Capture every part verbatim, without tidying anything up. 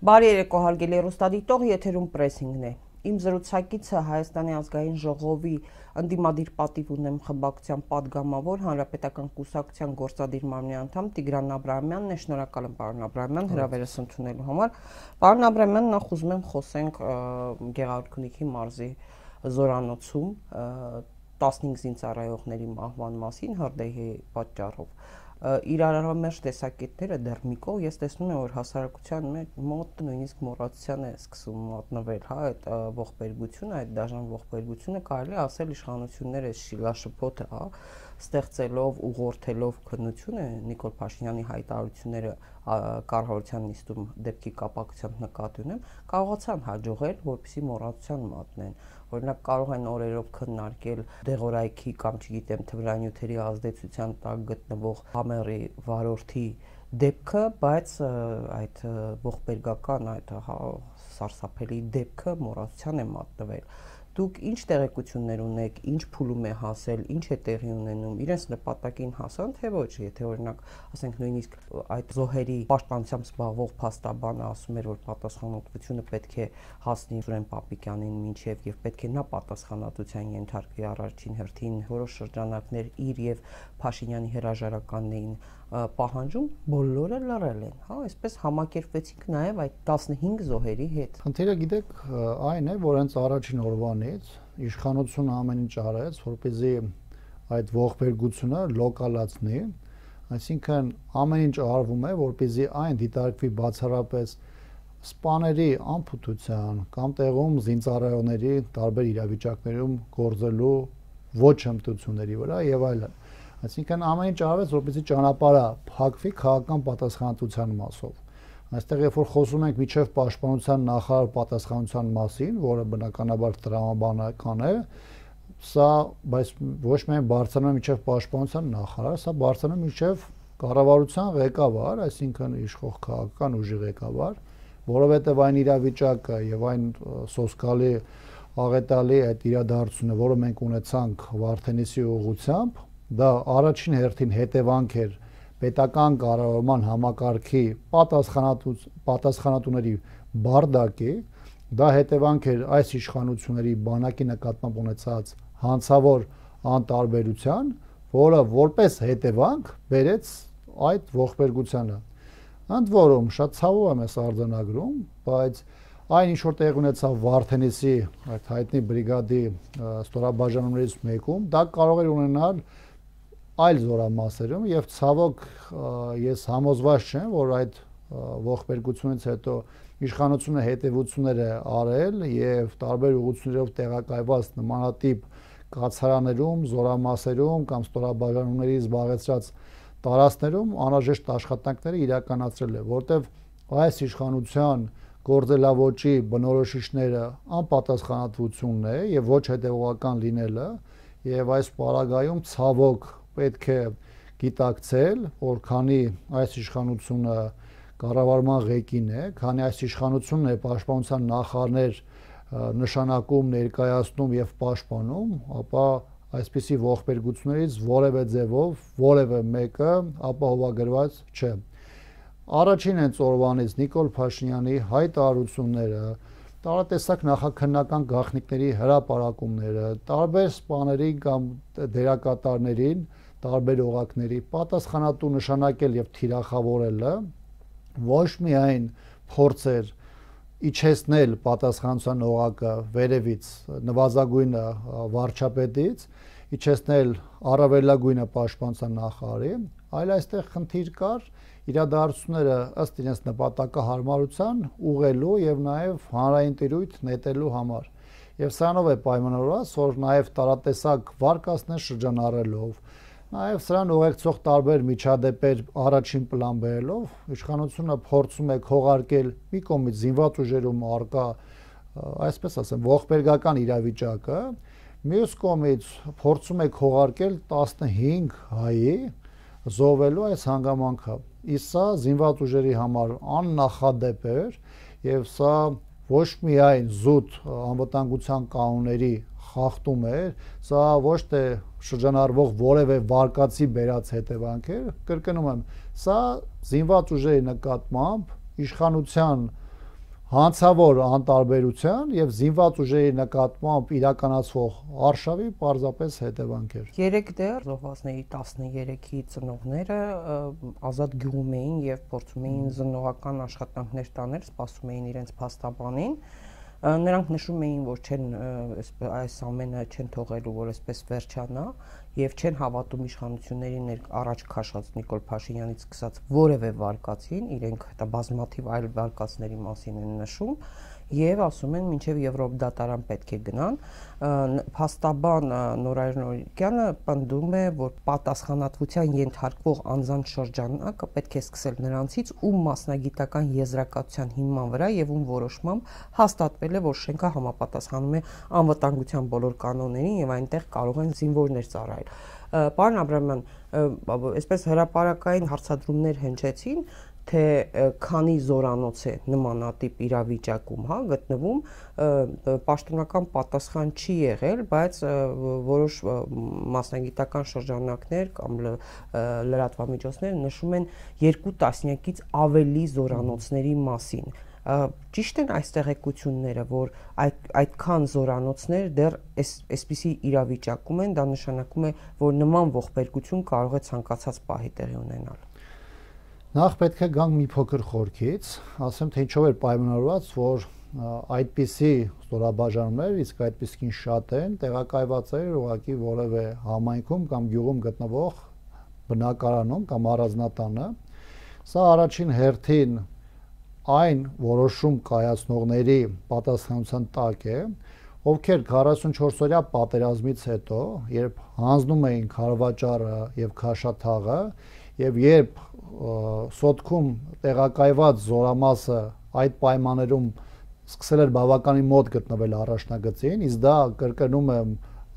Բարի երեկո հարգելի հեռուստադիտող, եթերում պրեսինգն է։ Իմ զրուցակիցը Հայաստանի ազգային ժողովի ընդդիմադիր պատիվ ունեմ խմբակցության падգամավոր Հանրապետական կուսակցության գործադիր մարմնի անդամ Տիգրան Աբրահամյանն է։ Շնորհակալ եմ պարոն Աբրահամյան հրավերս ընդունելու համար։ Պարոն Աբրահամյան, նախ ուզում եմ խոսենք Գեղարքունիքի մարզի զորանոցում տասնհինգ զինծառայողների մահվան մասին հրդեհի պատճառով։ Իրարամերժ տեսակետները դեռ մի կողմ, ես տեսնում եմ, որ հասարակության մոտ նույնիսկ մոռացության է սկսում մատնվել, հա, այդ ողբերգությունը, այդ դաժան ողբերգությունը կարելի ասել իշխանությունները շիլաշփոթ է, հա, ստեղծելով, ուղղորդելով քննությունը Նիկոլ Փաշինյանի հայտարարությունները կառավարության նիստում դեպքի կապակցությամբ նկատի ունեմ, կարողացան հաջողել, որպեսզի մոռացության մատնեն։ Օրինակ կարող են օրերով քննարկել դեղորայքի կամ չգիտեմ թմրանյութերի ազդեցության տակ գտնվող համերի վարորդի դեպքը, բայց այդ ողբերգական այդ սարսափելի դեպքը մոռացության է մատնվել։ Դուք ինչ տեղեկություններ ունեք, ինչ փուլում է հասել, ինչ է տեղի ունենում, իրենց նպատակին հասան, թե ոչ, եթե օրինակ, ասենք նույնիսկ այդ զոհերի պաշտպանությամբ զբաղվող փաստաբանը ասում էր, որ պատասխանատվությունը պետք է հասնի Սուրեն Պապիկյանին մինչև եւ պետք է նա պատասխանատվության ենթարկվի առաջին հերթին, որոշ շրջանակներ իր եւ Փաշինյանի հրաժարականներին պահանջում, բոլորը լռել են, հա, այսպես համակերպվեցինք նաեւ այդ տասնհինգ զոհերի հետ։ Խնդիրը գիտեք, այն է, որ հենց առաջին օրվանից իշխանությունը ամեն ինչ արեց, որպեսզի այդ ողբերգությունը լոկալացնի, այսինքն ամեն ինչ արվում է, որպեսզի այն դիտարկվի բացառապես սպաների անփութության կամ տեղում զինծառայողների տարբեր իրավիճակներում գործելու ոչ հմտությունների վրա եւ այլն։ Այսինքն ամեն ինչ արվեց, որպեսզի ճանապարհը փակվի քաղաքական պատասխանատվության մասով։ Այստեղ երբ որ խոսում ենք միջև պաշտպանության նախարար պատասխանատվության մասին, որը բնականաբար տրամաբանական է, սա բայց ոչ միայն բարձրանում միջև պաշտպանության նախարար, սա բարձրանում միջև կառավարության ղեկավար, այսինքն իշխող քաղաքական ուժի ղեկավար, որովհետև այն իրավիճակը եւ այն սոսկալի աղետալի այդ իրադարձությունը, որը մենք ունեցանք Վարդենիսի ուղղությամբ, դա առաջին հերթին հետևանք էր պետական կառավարման համակարգի պատասխանատուների բարդակի, դա հետևանք էր այս իշխանությունների բանակի նկատմամբ ունեցած հանցավոր անտարբերության, որը որպես հետևանք բերեց այդ ողբերգությանը։ Ընդ որում շատ ցավով եմ ես արձանագրում, բայց այն ինչ որ տեղի ունեցավ Վարդենիսի այդ հայտնի բրիգադի ստորաբաժանումներից մեկում, դա կարող էր ունենալ այլ զորամասերում եւ ցավոք ես համոզված չեմ, որ այդ ողբերգությունից հետո իշխանությունը հետևություններ է արել եւ տարբեր ուղղություններով տեղակայված նմանատիպ կացարաներում, զորամասերում կամ ստորաբաժանումների զբաղեցրած տարածքներում անհրաժեշտ աշխատանքները իրականացրել է, որտեվ այս իշխանության գործելավոճի բնորոշիչները անպատասխանատվությունն է եւ ոչ հետեւողական լինելը եւ այս պարագայում ցավոք պետք է գիտակցել, որ քանի այս իշխանությունը կառավարման ղեկին է, քանի այս իշխանությունն է պաշտպանության նախարարներ նշանակում, ներկայացնում եւ պաշտպանում, ապա այսպիսի ողբերգություններից որևէ ձևով որևէ մեկը ապահովագրված չէ։ Առաջին հենց օրվանից Նիկոլ Փաշինյանի հայտարարությունները, տարատեսակ նախաքննական գաղտնիքների հրապարակումները, տարբեր սպաների կամ դերակատարներին, տարբեր օղակների պատասխանատու նշանակել եւ թիրախավորելը ոչ միայն փորձ էր իջեցնել պատասխանատվության օղակը վերևից նվազագույնը վարչապետից, իջեցնել առավելագույնը պաշտպանության նախարարի, այլ այստեղ խնդիր կար իրադարձությունները ըստ իրենց նպատակահարմարության ուղղելու եւ նաեւ հանրային տիրույթ նետելու համար։ Եվ սրանով է պայմանավորված, որ նաեւ տարատեսակ վարկածներ շրջանառելով, նաեւ սրան ուղեկցող տարբեր միջադեպեր առաջին պլան բերելով, իշխանությունը փորձում է քողարկել մի կողմից զինված ուժերում արկա, այսպես ասեմ, ողբերգական իրավիճակը, մյուս կողմից փորձում է քողարկել տասնհինգ հայի զոհվելու այս հանգամանքը։ Իսկ սա զինված ուժերի համար աննախադեպ էր եւ սա ոչ միայն զուտ անվտանգության կանոնների խախտում էր, սա ոչ թե շրջանառվող որևէ վարկածի բերած հետևանք էր, կրկնում եմ, սա զինված ուժերի նկատմամբ իշխանության հանցավոր անտարբերության եւ զինված ուժերի նկատմամբ իրականացվող արշավի պարզապես հետևանքեր։ Երեք դեռ զոհվածների տասներեքի ծնողները ազատ գյուղում էին եւ փորձում էին զննողական աշխատանքներ տանել, սպասում էին իրենց փաստաբանին։ Նրանք նշում էին, որ չեն այս ամենը չեն թողելու, որ այսպես վերջանա եւ չեն հավատում իշխանությունների առաջ քաշած Նիկոլ Փաշինյանից սկսած որևէ վարկածին, իրենք դա բազմաթիվ այլ վարկածների մասին են նշում եւ ասում են մինչեւ Եվրոպ դատարան պետք է գնան։ Փաստաբան Նորայր Նորիկյանը պնդում է, որ պատասխանատվության ենթարկվող անձանց շրջանակը պետք է սկսել նրանցից, ում մասնագիտական եզրակացության հիման վրա եւ ում որոշմամբ հաստատվել է, որ շենքը համապատասխանում է անվտանգության բոլոր կանոններին եւ այնտեղ կարող են զինվորներ ծառայել։ Պարոն Աբրամյան, այսպես հրապարակային հարցադրումներ հնչեցին, թե քանի զորանոց է նմանատիպ իրավիճակում, հա, գտնվում, պաշտոնական պատասխան չի եղել, բայց որոշ մասնագիտական շրջանակներ կամ լրատվամիջոցներ նշում են երկու տասնյակից ավելի զորանոցների մասին։ Ճիշտ են այս տեղեկությունները, որ այդ այդքան զորանոցներ դեռ այսպիսի իրավիճակում են, դա նշանակում է, որ նման ողբերգություն կարող է ցանկացած պահի տեղի ունենալ։ Նախ պետք է գանք մի փոքր խորքից, ասեմ, թե ինչով էր պայմանավորված, որ այդպիսի ստորաբաժանումներ, իսկ այդպիսին շատ են, տեղակայված էր ուղղակի որևէ համայնքում կամ գյուղում գտնվող բնակարանում կամ առանձնատանը։ Սա առաջին հերթին այն որոշում կայացնողների պատասխանության տակ է, ովքեր քառասունչորսօրյա պատերազմից հետո, երբ հանձնում էին քարվաճառը եւ քաշաթաղը, եւ երբ սոտքում տեղակայված զորամասը այդ պայմաններում սկսել էր բավականին մոտ գտնվել առաջնագծին, իսկ դա կրկնում եմ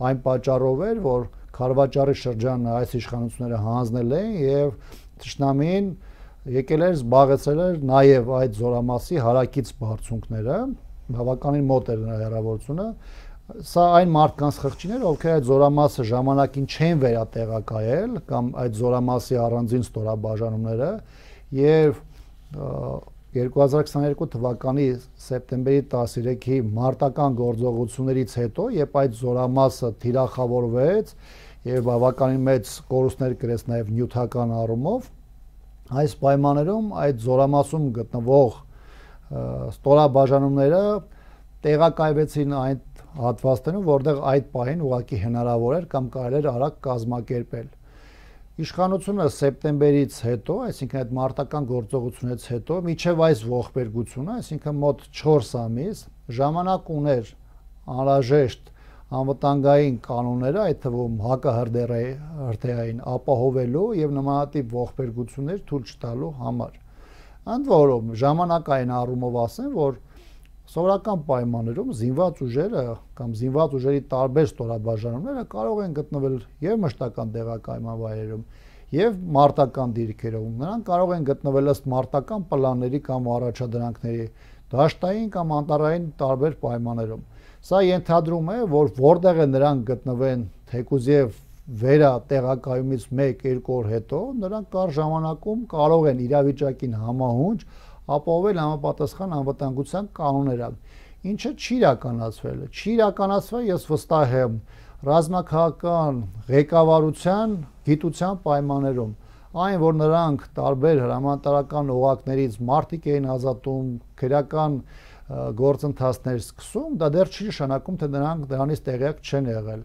այն պատճառով էր, որ քարվաճառի շրջանը այս իշխանությունները հանձնել էին եւ թշնամին եկել էր զբաղեցրել էր նաև այդ զորամասի հարակից բարձունքները, բավականին մոտ էր նրա հեռավորությունը։ Սա այն մարդկանց խղճիներ, ովքեր այդ զորամասը ժամանակին չեն վերատեղակայել կամ այդ զորամասի առանձին ստորաբաժանումները եւ երկու հազար քսաներկու թվականի սեպտեմբերի տասներեքի մարտական գործողություններից հետո, երբ այդ զորամասը թիրախավորվեց եւ բավականին մեծ կորուստներ կրեց նաև նյութական առումով, այս պայմաններում այդ զորամասում գտնվող ստորաբաժանումները տեղակայվեցին այդ հատվածներում, որտեղ այդ պահին ուղղակի հնարավոր էր կամ կարելի էր արագ կազմակերպել։ Իշխանությունը սեպտեմբերից հետո, այսինքն այդ մարտական գործողությունից հետո, մինչև այս ողբերգությունը, այսինքն մոտ չորս ամիս, ժամանակ ուներ անհրաժեշտ անվտանգային կանոնները, այդ թվում հակահրդեհային ապահովելու եւ նմանատիպ ողբերգություններ թույլ չտալու համար։ Ընդ որում ժամանակային առումով ասեմ, որ սովորական պայմաններում զինված ուժերը կամ զինված ուժերի տարբեր ստորաբաժանումները կարող են գտնվել եւ մշտական տեղակայման վայրերում եւ մարտական դիրքերում։ Նրանք կարող են գտնվել ըստ մարտական պլանների կամ առաջադրանքների, դաշտային կամ անտառային տարբեր պայմաններում։ Սա ենթադրում է, որ որտեղ է նրանք գտնվեն թեկուզ եւ վերա տեղակայումից մեկ-երկու օր հետո, նրանք կար ժամանակում կարող են իրավիճակին համահունչ ապահովել համապատասխան անվտանգության կանոնները, ինչը չի իրականացվել։ Չի իրականացվել, ես վստահ եմ, ռազմաքաղաքական ղեկավարության գիտության պայմաններում։ Այն, որ նրանք տարբեր հրամանատարական օղակներից մարդիկ էին ազատում, քրեական գործընթացներ սկսում, դա դեռ չի նշանակում, թե նրանք դրանից տեղյակ չեն եղել։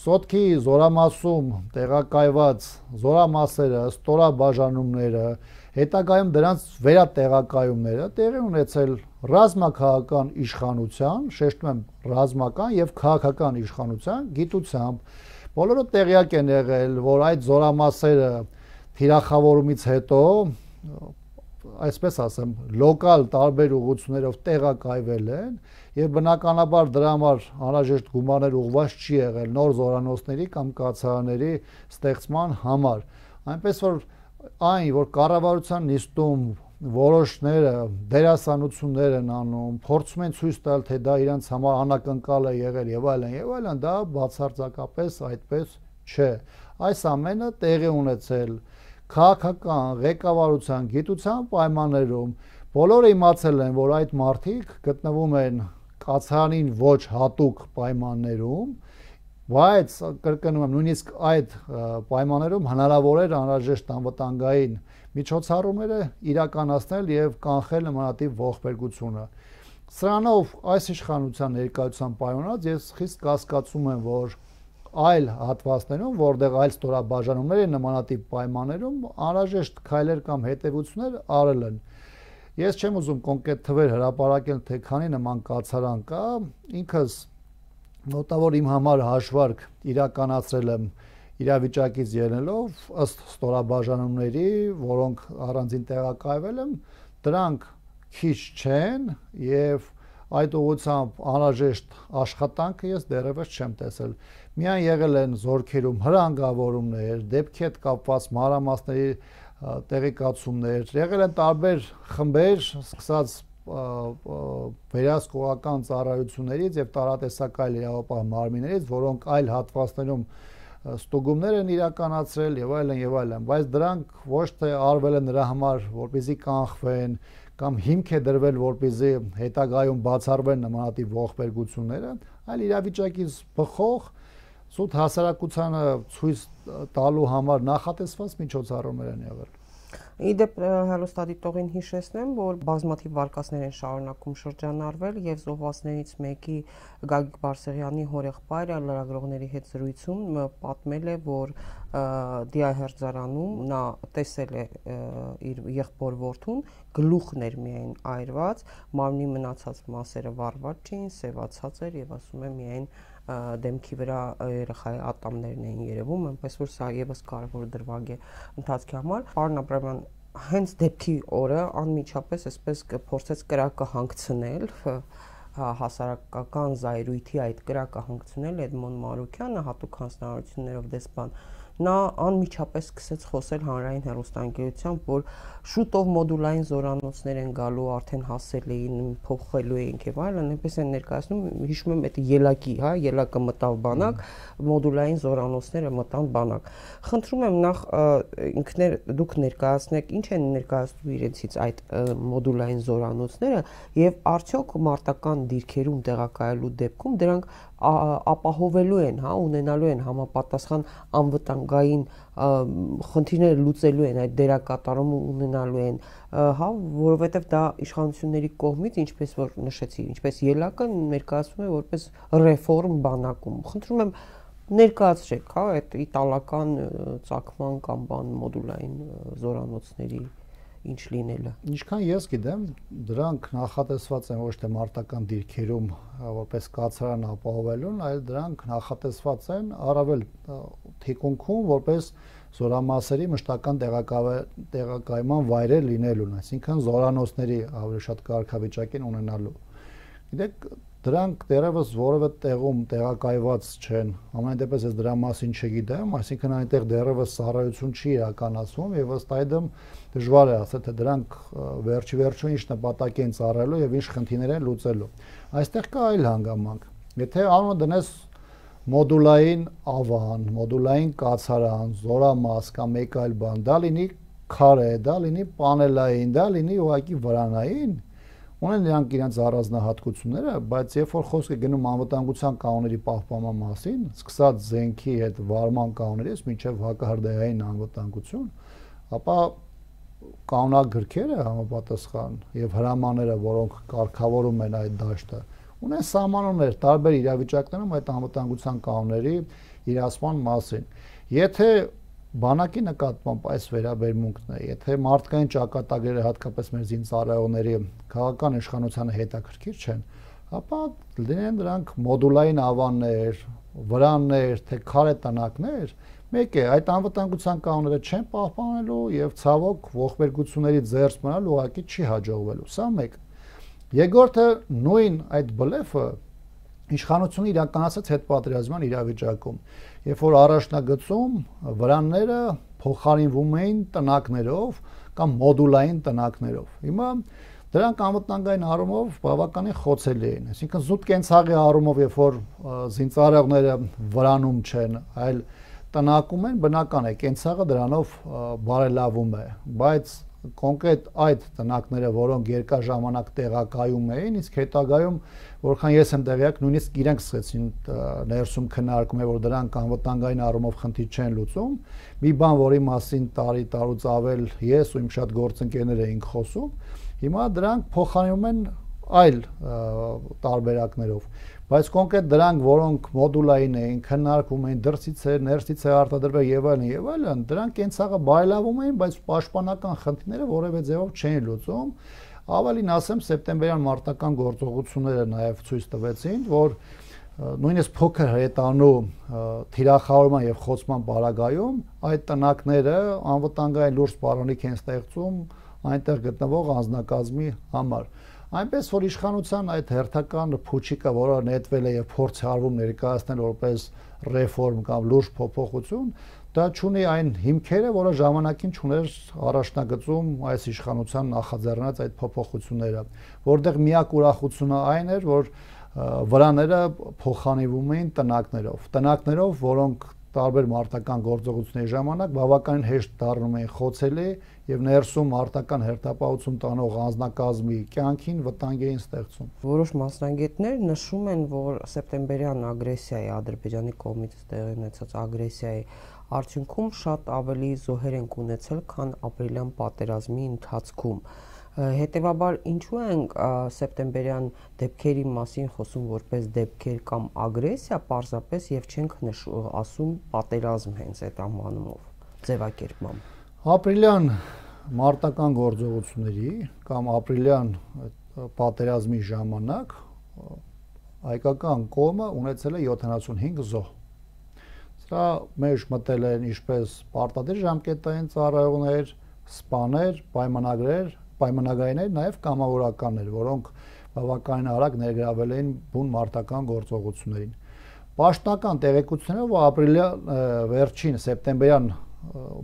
Սոտքի զորամասում տեղակայված զորամասերը, ստորաբաժանումները, հետագայում դրանց վերատեղակայումները տեղի ունեցել ռազմաքաղաքական իշխանության, շեշտում եմ ռազմական եւ քաղաքական իշխանության գիտությամբ։ Բոլորը տեղյակ են եղել, որ այդ զորամասերը թիրախավորումից հետո, այսպես ասեմ, լոկալ տարբեր ուղղություններով տեղակայվել են եւ բնականաբար դրա համար անհրաժեշտ գումարներ ուղղված չի եղել նոր զորանոցների կամ կացարանների ստեղծման համար։ Այնպես որ այն, որ կառավարության նիստում որոշները դերասանություններ են անում, փորձում են ցույց տալ, թե դա իրենց համար անակնկալ է եղել եւ այլն եւ այլն, դա բացարձակապես այդպես չէ։ Այս ամենը տեղի ունեցել քաղաքական ղեկավարության գիտության պայմաններում, Բոլորը իմացել են, որ այդ մարդիկ գտնվում են կացարանին ոչ հատուկ պայմաններում, բայց կրկնում եմ, նույնիսկ այդ պայմաններում հնարավոր էր անհրաժեշտ անվտանգային միջոցառումները իրականացնել եւ կանխել նմանատիպ ողբերգությունը։ Սրանով այս իշխանության ներկայության պայմանած ես խիստ կասկածում եմ, որ այլ հատվածներում, որտեղ այլ ստորաբաժանումներ են նմանատիպ պայմաններում, անհրաժեշտ քայլեր կամ հետևություններ արել են։ Ես չեմ ուզում կոնկրետ թվեր հրապարակել, թե քանի նման կացարան կա, ինքս մոտավոր իմ համար հաշվարկ իրականացրել եմ իրավիճակից ելնելով ըստ ստորաբաժանումների, որոնք առանձին տեղակայվել են, դրանք քիչ չեն եւ այդ ուղղությամբ անհրաժեշտ աշխատանքը ես դեռևս չեմ տեսել։ Միայն եղել են զորքերում հրանգավորումներ, դեպքի հետ կապված մանրամասների տեղեկացումներ, եղել են տարբեր խմբեր, սկսած վերահսկողական ծառայություններից եւ տարատեսակ այլ իրավապահ մարմիններից, որոնք այլ հատվածներում ստուգումներ են իրականացրել եւ այլն եւ այլն, բայց դրանք ոչ թե արվել են նրա համար, որպեսզի կանխվեն կամ հիմք է դրվել, որպեսզի հետագայում բացառվեն նմանատիպ ողբերգությունները, այլ իրավիճակից բխող սուտ հասարակությանը ցույց տալու համար նախատեսված միջոցառումներ են եղել։ Իդեպ հեռուստադիտողին հիշեցնեմ, որ բազմաթիվ վարկածներ են շարունակում շրջանառվել եւ զոհվածներից մեկի Գագիկ Բարսեղյանի հորեղբայրը լրագրողների հետ զրույցում պատմել է, որ Դիահերձարանում նա տեսել է իր եղբոր որդուն, գլուխն էր միայն այրված, մարմնի մնացած մասերը վառված չէին, սևացած էր եւ ասում է միայն դեմքի վրա երեխայի ատամներն էին երևում, այնպես որ սա եւս կարևոր դրվագ է ընթացքի համար։ Պարոն Աբրամյան, հենց դեպքի օրը անմիջապես այսպես փորձեց կրակը հանգցնել, հասարակական զայրույթի այդ կրակը հանգցնել Էդմոն Մարուկյանը հատուկ հանձնարարություններով դեսպան։ Նա անմիջապես սկսեց խոսել հանրային հեռուստաընկերությամբ, որ շուտով մոդուլային զորանոցներ են գալու, արդեն հասել էին, փոխելու ենք եւ այլն, այնպես են ներկայացնում, հիշում եմ այդ ելակի, հա, ելակը մտավ բանակ, մոդուլային զորանոցները մտան բանակ։ Խնդրում եմ նախ ինքներ դուք ներկայացնեք, ինչ են ներկայացնում իրենցից այդ մոդուլային զորանոցները եւ արդյոք մարտական դիրքերում տեղակայելու դեպքում դրանք ապահովելու են, հա, ունենալու են համապատասխան անվտանգային խնդիրները լուծելու են, այդ դերակատարումը ունենալու են, հա, որովհետև դա իշխանությունների կողմից, ինչպես որ նշեցի, ինչպես ելակը ներկայացվում է որպես ռեֆորմ բանակում։ Խնդրում եմ ներկայացրեք, հա, այդ իտալական ծագման կամ բան մոդուլային զորանոցների ինչ լինելը։ Ինչքան ես գիտեմ, դրանք նախատեսված են ոչ թե մարտական դիրքերում որպես կացարան ապահովելուն, այլ դրանք նախատեսված են առավել թիկունքում որպես զորամասերի մշտական տեղակայման վայրեր լինելուն, այսինքն զորանոցների ավելի շատ կարգավիճակ են ունենալու։ Գիտեք, դրանք դեռևս որևէ տեղում տեղակայված չեն, ամեն դեպս ես դրա մասին չգիտեմ, այսինքն այնտեղ դեռևս ծառայություն չի իրականացվում եւ ըստ այդմ դժվար է ասել, թե դրանք վերջի վերջո ինչ նպատակ են ծառայելու եւ ինչ խնդիրներ են լուծելու։ Այստեղ կա այլ հանգամանք։ Եթե անունը դնես մոդուլային ավան, մոդուլային կացարան, զորամաս կամ մեկ այլ բան, դա լինի քարե, դա լինի պանելային, դա լինի ուղղակի վրանային, ունեն նրանք իրենց առանձնահատկությունները, բայց երբ որ խոսք է գնում անվտանգության կանոնների պահպանման մասին, սկսած զենքի հետ վարման կանոններից մինչև հակահրդեհային անվտանգություն, ապա կանոնագրքերը համապատասխան եւ հրամանները, որոնք կարգավորում են այդ դաշտը, ունեն սահմանումներ տարբեր իրավիճակներում այդ անվտանգության կանոնների իրացման մասին։ Եթե բանակի նկատմամբ այս վերաբերմունքն է, եթե մարդկային ճակատագրերը հատկապես մեր զինծառայողների քաղաքական իշխանությանը հետաքրքիր չեն, ապա լինեն դրանք մոդուլային ավաններ, վրաններ, թե քարե տնակներ, մեկ է այդ անվտանգության կանոնները չեն պահպանելու եւ ցավոք ողբերգությունների ձեռք մնալ ուղղակի չի հաջողվելու։ Սա մեկ։ Երկրորդը նույն այդ բլեֆը իշխանությունը իրականացած հետպատերազմյան իրավիճակում, երբ որ առաջնագծում վրանները փոխարինվում էին տնակներով կամ մոդուլային տնակներով։ Հիմա դրանք անվտանգային առումով բավականին խոցելի են, այսինքն զուտ կենցաղի առումով, երբ որ զինծառայողները վրանում չեն, այլ տնակում են, բնական է, կենցաղը դրանով բարելավում է, բայց կոնկրետ այդ տնակները, որոնք երկար ժամանակ տեղակայում էին, իսկ հետագայում, որքան ես եմ տեղյակ, նույնիսկ իրենք սկսեցին ներսում քննարկում, որ դրանք անվտանգային առումով խնդիր չեն լուծում, մի բան, որի մասին տարի տարուց ավել ես ու իմ շատ գործընկերներ էինք խոսում, հիմա դրանք փոխարինում են այլ տարբերակներով, բայց կոնկրետ դրանք, որոնք մոդուլային էին, քննարկվում էին, դրսից էր, ներսից է արտադրվել եւ այլն եւ այլն, դրանք կենցաղը բարելավում էին, բայց պաշտպանական խնդիրները որևէ ձևով չէին լուծում։ Ավելին ասեմ, սեպտեմբերյան մարտական գործողությունները նաեւ ցույց տվեցին, որ նույնիսկ փոքր հրետանու թիրախավորման եւ խոցման պարագայում այդ տնակները անվտանգային լուրջ սպառնալիք են ստեղծում այնտեղ գտնվող անձնակազմի համար։ Այնպես որ իշխանության այդ հերթական փուչիկը, որը նետվել է եւ փորձ արվում ներկայացնել որպես ռեֆորմ կամ լուրջ փոփոխություն, դա չունի այն հիմքերը, որը ժամանակին չուներ առաջնագծում այս իշխանության նախաձեռնած այդ փոփոխությունները, որտեղ միակ ուրախությունը այն էր, որ վրաները փոխանցվում էին տնակներով, տնակներով, որոնք տարբեր մարտական գործողությունների ժամանակ բավականին հեշտ դառնում էին խոցելի եւ ներսում արտական հերթապահություն տանող անձնակազմի կյանքին վտանգ էին ստեղծում։ Որոշ մասնագետներ նշում են, որ սեպտեմբերյան ագրեսիայի, Ադրբեջանի կողմից տեղի ունեցած ագրեսիայի արդյունքում շատ ավելի զոհեր են ունեցել, քան ապրիլյան պատերազմի ընթացքում։ Հետևաբար ինչու ենք սեպտեմբերյան դեպքերի մասին խոսում որպես դեպքեր կամ ագրեսիա պարզապես եւ չենք ասում պատերազմ հենց այդ անվանումով, ձևակերպմամբ։ Ապրիլյան մարտական գործողությունների կամ ապրիլյան պատերազմի ժամանակ հայկական կողմը ունեցել է յոթանասունհինգ զոհ։ Սա մեջ մտել են ինչպես պարտադիր ժամկետային ծառայողներ, սպաներ, պայմանագրեր, պայմանագրայիններ, նաև կամավորականներ, որոնք բավականին արագ ներգրավել էին բուն մարտական գործողություններին։ Պաշտոնական տեղեկություններով ապրիլյան վերջին սեպտեմբերյան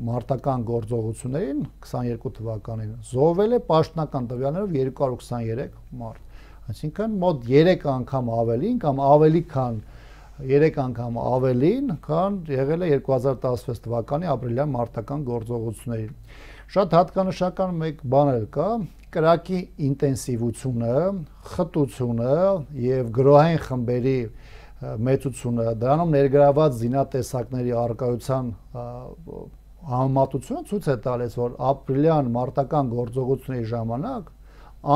մարտական գործողություններին քսաներկու թվականին զոհվել է պաշտոնական տվյալներով երկու հարյուր քսաներեք մարդ, այսինքն մոտ երեք անգամ ավելին կամ ավելի քան երեք անգամ ավելին, քան եղել է երկու հազար տասնվեց թվականի ապրիլյան մարտական գործողություններին։ Շատ հատկանշական մեկ բան էլ կա, կրակի ինտենսիվությունը, խտությունը եւ գրոհային խմբերի մեծությունը, դրանում ներգրաված զինատեսակների առկայության համեմատությունը ցույց է տալիս, որ ապրիլյան մարտական գործողությունների ժամանակ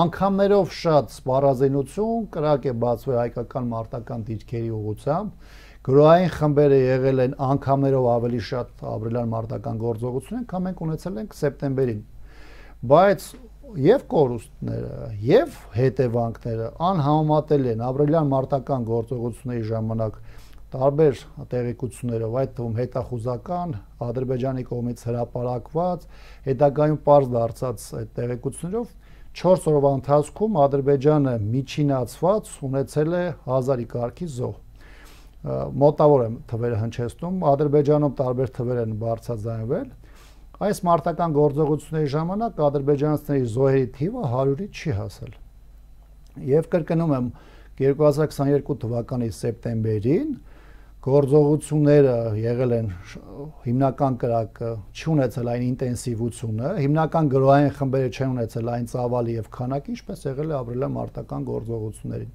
անգամներով շատ սպառազինություն կրակ է բացվել հայկական մարտական դիրքերի ուղղությամբ, գրոհային խմբերը եղել են անգամներով ավելի շատ ապրիլյան մարտական գործողություններ, քան մենք ունեցել ենք սեպտեմբերին։ Բայց եւ կորուստները, եւ հետևանքները անհամեմատելի են ապրիլյան մարտական գործողությունների ժամանակ տարբեր տեղեկություններով, այդ թվում հետախուզական, Ադրբեջանի կողմից հրապարակված, հետագայում պարզ դարձած այդ տեղեկություններով չորս օրվա ընթացքում Ադրբեջանը միջինացված ունեցել է հազարի կարգի զոհ։ Մոտավոր եմ թվերը հնչեցնում, Ադրբեջանում տարբեր թվեր են բարձրաձայնվել։ Այս մարտական գործողությունների ժամանակ ադրբեջանցիների զոհերի թիվը հարյուրի չի հասել։ Եվ կրկնում եմ, երկու հազար քսաներկու թվականի սեպտեմբերին գործողությունները եղել են հիմնական կրակը չունեցել այն ինտենսիվությունը, հիմնական գրոհային խմբերը չեն ունեցել այն ծավալի եւ քանակի, ինչպես եղել է ապրիլյան մարտական գործողություններին։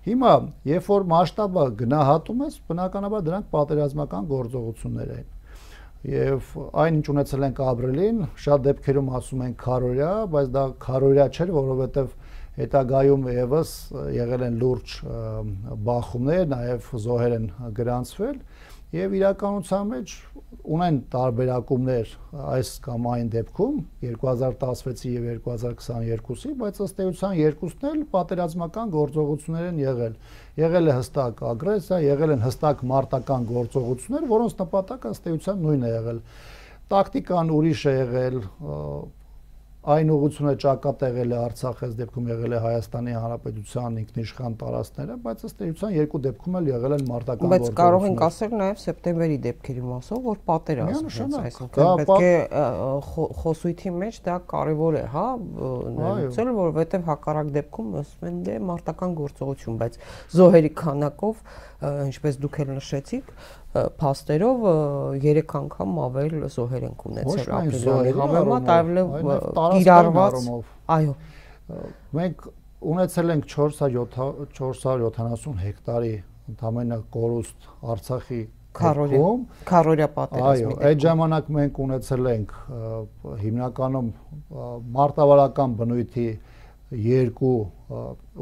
Հիմա, երբ որ մասշտաբը գնահատում ես, բնականաբար դրանք պատերազմական գործողություններ են։ Եվ այն ինչ ունեցել ենք ապրիլին, շատ դեպքերում ասում են քարորյա, բայց դա քարորյա չէր, որովհետեւ հետագայում եւս եղել են լուրջ բախումներ, նաեւ զոհեր են գրանցվել եւ իրականության մեջ ունեն տարբերակումներ այս կամ այն դեպքում երկու հազար տասնվեցի եւ երկու հազար քսաներկուսի, բայց ըստ էության երկուսն էլ պատերազմական գործողություններ են եղել։ Եղել է հստակ ագրեսիա, եղել են հստակ մարտական գործողություններ, որոնց նպատակը ըստ էության նույնն է եղել։ Տակտիկան ուրիշ է եղել, այն ուղղությունը ճակատեղել է Արցախ, այս դեպքում եղել է Հայաստանի Հանրապետության ինքնիշխան տարածքները, բայց ըստ էության երկու դեպքում էլ եղել են մարտական գործողություններ։ Բայց կարող ենք ասել նաև սեպտեմբերի դեպքերի մասով, որ պատերազմ է, այսինքն պետք է խոսույթի մեջ դա կարևոր է, հա, ներեցել, որովհետև հակառակ դեպքում ասում են դե մարտական գործողություն, բայց զոհերի քանակով, ինչպես դուք էլ նշեցիք, փաստերով երեք անգամ ավել զոհեր են ունեցել ապրիլյանի համեմատ, այլև կիրառված, այո, մենք ունեցել ենք չորս հարյուր յոթանասուն հեկտարի ընդամենը կորուստ Արցախի քառորյա քառորյա պատերազմի։ Այո, այդ ժամանակ մենք ունեցել ենք հիմնականում մարտավարական բնույթի երկու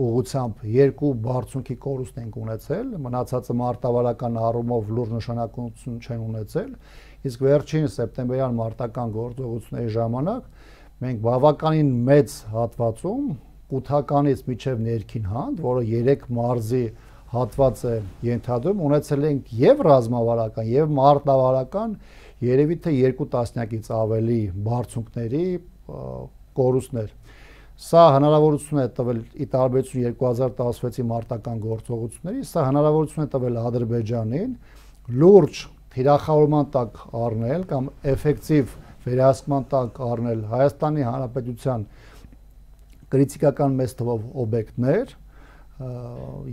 ուղղությամբ երկու բարձունքի կորուստ ենք ունեցել, մնացածը մարտավարական առումով լուրջ նշանակություն չեն ունեցել, իսկ վերջին սեպտեմբերյան մարտական գործողությունների ժամանակ մենք բավականին մեծ հատվածում կութականից մինչև ներքին հանդ, որը երեք մարզի հատված է ենթադրում, ունեցել ենք եւ ռազմավարական եւ մարտավարական երևի թե երկու տասնյակից ավելի բարձունքների կորուստներ։ Սա հնարավորություն է տվել ի տարբերություն երկու հազար տասնվեցի մարտական գործողությունների, սա հնարավորություն է տվել Ադրբեջանին լուրջ թիրախավորման տակ առնել կամ էֆեկտիվ վերահսկման տակ առնել Հայաստանի Հանրապետության կրիտիկական մեծ թվով օբյեկտներ,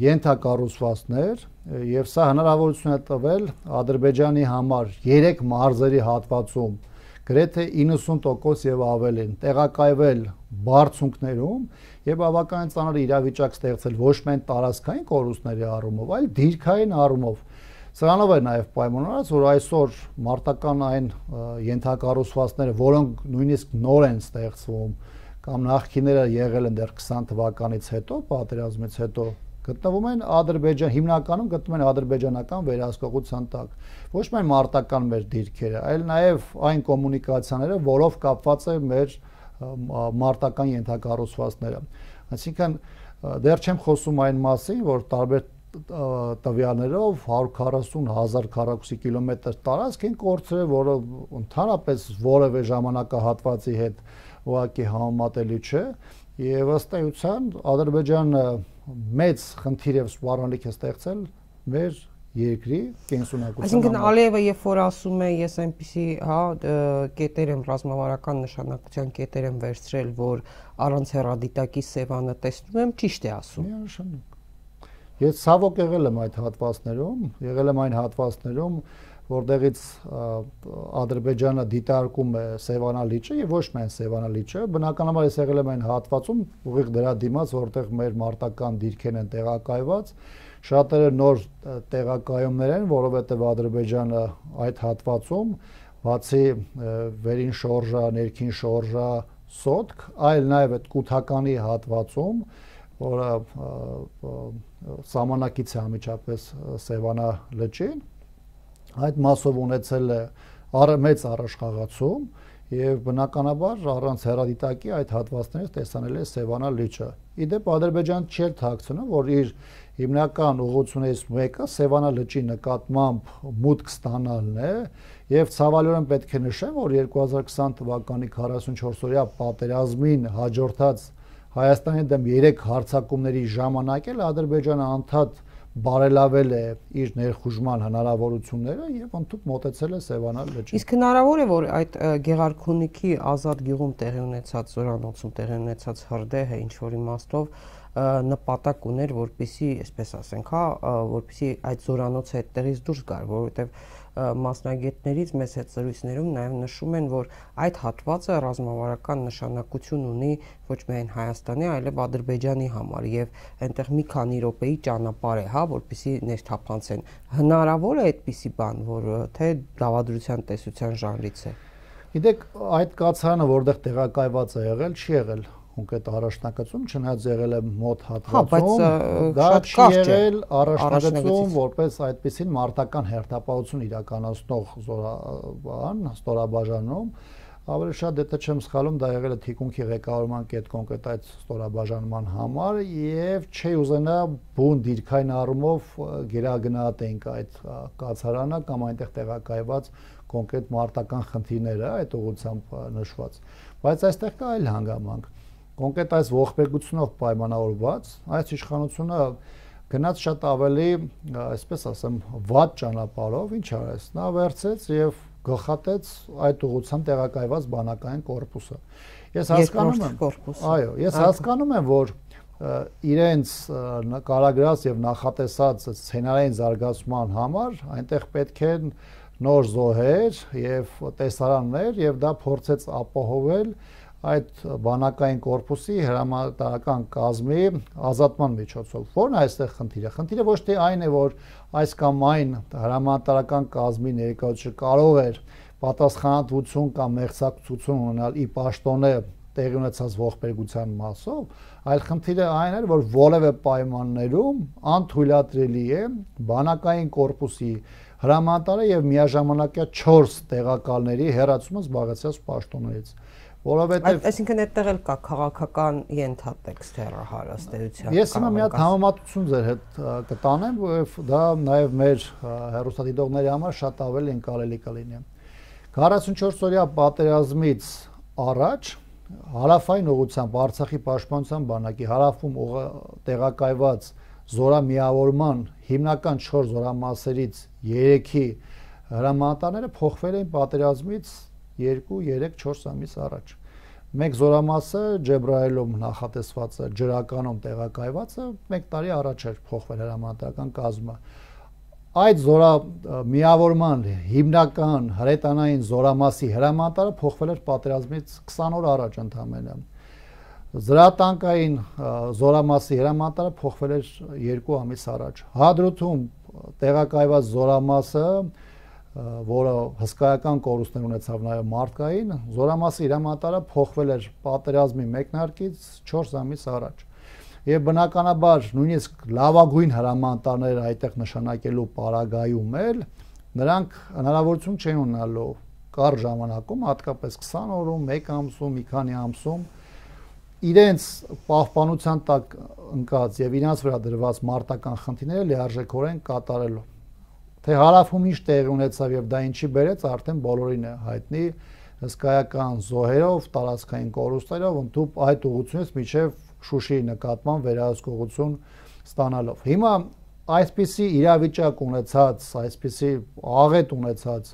ենթակառուցվածքներ, եւ սա հնարավորություն է տվել Ադրբեջանի համար երեք մարզերի հատվածում գրեթե իննսուն տոկոս եւ ավելին տեղակայվել բարձունքներում եւ բավականին ծանր իրավիճակ ստեղծել ոչ միայն տարածքային կորուստների առումով, այլ դիրքային առումով։ Սրանով է նաեւ պայմանավորված, որ այսօր մարտական այն ենթակառուցվածքները, որոնք նույնիսկ նոր են ստեղծվում կամ նախկիները եղել են դեռ քսան թվականից հետո, պատերազմից հետո, գտնվում են Ադրբեջան, հիմնականում գտնվում են ադրբեջանական վերահսկողության տակ։ Ոչ միայն մարտական մեր դիրքերը, այլ նաև այն կոմունիկացիաները, որով կապված է մեր մարտական ենթակառուցվածքները։ Այսինքն դեռ չեմ խոսում այն մասին, որ տարբեր տվյալներով հարյուր քառասուն հազար քառակուսի կիլոմետր տարածք են կորցրել, որը ընդհանրապես որևէ ժամանակահատվածի հետ ուղղակի համեմատելի չէ, եւ ըստ էության Ադրբեջանը մեծ խնդիր եւ սպառնալիք է ստեղծել մեր երկրի կենսունակության։ Այսինքն Ալիևը երբ որ ասում է ես այնպիսի, հա, կետեր եմ ռազմավարական նշանակության կետեր եմ վերցրել, որ առանց հեռադիտակի Սևանը տեսնում եմ, ճիշտ է ասում։ Միանշանակ։ Ես ցավոք եղել եմ այդ հատվածներում, եղել եմ այն հատվածներում, որտեղից Ադրբեջանը դիտարկում է Սևանա լիճը եւ ոչ միայն Սևանա լիճը, բնականաբար ես եղել եմ այն հատվածում, ուղիղ դրա դիմաց, որտեղ մեր մարտական դիրքերն են տեղակայված, շատերը նոր տեղակայումներ են, որովհետեւ Ադրբեջանը այդ հատվածում բացի վերին շորժա, ներքին շորժա, սոտք, այլ նաեւ այդ կութականի հատվածում, որը սահմանակից է անմիջապես Սևանա լճին, այդ մասով ունեցել է մեծ առաջխաղացում եւ բնականաբար առանց հեռադիտակի այդ հատվածներից տեսանել է Սևանա լիճը։ Իդեպ Ադրբեջանը չէր թաքցնում, որ իր հիմնական ուղղություններից մեկը Սևանա լճի նկատմամբ մուտք ստանալն է եւ ցավալիորեն պետք է նշեմ, որ երկու հազար քսան թվականի քառասունչորսօրյա պատերազմին հաջորդած Հայաստանի դեմ երեք հարձակումների ժամանակ էլ Ադրբեջանը անդադ բարելավել է իր ներխուժման հնարավորությունները եւ ընդհանուր մոտեցել է Սևանա լճին։ Իսկ հնարավոր է, որ այդ Գեղարքունիքի ազատ գյուղում տեղի ունեցած զորանոցում տեղի ունեցած հրդեհը ինչ որ իմաստով նպատակ ուներ, որպեսի, այսպես ասենք, հա, որպեսի այդ զորանոցը այդտեղից դուրս գար, որովհետեւ մասնագետներից մեծ հետ զրույցներում նաև նշում են, որ այդ հատվածը ռազմավարական նշանակություն ունի ոչ միայն Հայաստանի, այլև Ադրբեջանի համար եւ այնտեղ մի քանի րոպեի ճանապարհ է, հա, որպեսզի ներթափանցեն։ Հնարավոր է այդպիսի բան, որ թե դավադրության տեսության ժանրից է։ Գիտեք, այդ կացարանը որտեղ տեղակայված է եղել, չի եղել կոնկրետ առաջնակցում, չնայած եղել է մոտ հատվածում, դա չի եղել առաջնագծում, որպես այդպիսին մարտական հերթապահություն իրականացնող զորաբան, ստորաբաժանում, ավելի շատ դե չեմ սխալում, դա եղել է թիկունքի ղեկավարման կետ կոնկրետ այդ ստորաբաժանման համար եւ չի ուզենա բուն դիրքային առումով գերագնահատենք այդ կացարանը կամ այնտեղ տեղակայված կոնկրետ մարտական խնդիրները այդ ուղղությամբ նշված, բայց այստեղ կա այլ հանգամանք։ Կոնկրետ այս ողբերգությունով պայմանավորված այս իշխանությունը գնաց շատ ավելի, այսպես ասեմ, վատ ճանապարհով, ինչ արեց, նա վերցեց եւ գլխատեց այդ ուղղությամբ տեղակայված բանակային կորպուսը։ Ես հասկանում եմ, այո, ես հասկանում եմ, որ իրենց կարագրած եւ նախատեսած սցենարային զարգացման համար այնտեղ պետք է նոր զոհեր եւ տեսարաններ եւ դա փորձեց ապահովել այդ բանակային կորպուսի հրամանատարական կազմի ազատման միջոցով։ Որն է այստեղ խնդիրը։ Խնդիրը ոչ թե այն է, որ այս կամ այն հրամանատարական կազմի ներկայացուցիչը կարող էր պատասխանատվություն կամ մեղսակցություն ունենալ ի պաշտոնե տեղի ունեցած ողբերգության մասով, այլ խնդիրը այն էր, որ որևէ պայմաններում անթույլատրելի է բանակային կորպուսի հրամանատարը եւ միաժամանակյա չորս տեղակալների հերացումը զբաղեցրած պաշտոններից, որովհետեւ այսինքն այդտեղ էլ կա քաղաքական ենթատեքստ հեռահարաստեյության։ Ես հիմա մի հատ համեմատություն ձեր հետ կտանեմ, որովհետեւ դա նաեւ մեր հեռուստադիտողների համար շատ ավելի ընկալելի կլինի։ քառասունչորս օրյա պատերազմից առաջ հարավային ուղղությամբ Արցախի պաշտպանության բանակի հարավում տեղակայված զորամիավորման հիմնական չորս զորամասերից երեքի հրամանատարները փոխվել էին պատերազմից երկու, երեք, չորս ամիս առաջ։ Մեկ զորամասը Ջեբրայելում նախատեսվածը ջրականում տեղակայվածը մեկ տարի առաջ էր փոխվել հրամանատարական կազմը։ Այդ զորամիավորման հիմնական հրետանային զորամասի հրամանատարը փոխվել էր պատերազմից քսան օր առաջ ընդամենը։ Զրատանկային զորամասի հրամանատարը փոխվել էր երկու ամիս առաջ։ Հադրութում տեղակայված զորամասը, որը հսկայական կորուստներ ունեցավ նաև մարդկային, զորամասի հրամանատարը փոխվել էր պատերազմի մեկնարկից չորս ամիս առաջ։ Եվ բնականաբար նույնիսկ լավագույն հրամանատարներ այդտեղ նշանակելու պարագայում էլ նրանք հնարավորություն չեն ունենալու կար ժամանակում, հատկապես քսան օրում, մեկ ամսում, մի քանի ամսում իրենց պահպանության տակ ընկած եւ իրենց վրա դրված մարտական խնդիրները լիարժեքորեն կատարելու։ Թե հարավում ինչ տեղի ունեցավ եւ դա ինչի բերեց, արդեն բոլորին է հայտնի հսկայական զոհերով, տարածքային կորուստերով, ընդհանուր այդ ուղղությունից միջև Շուշիի նկատմամբ վերահսկողություն ստանալով։ Հիմա այսպիսի իրավիճակ ունեցած, այսպիսի աղետ ունեցած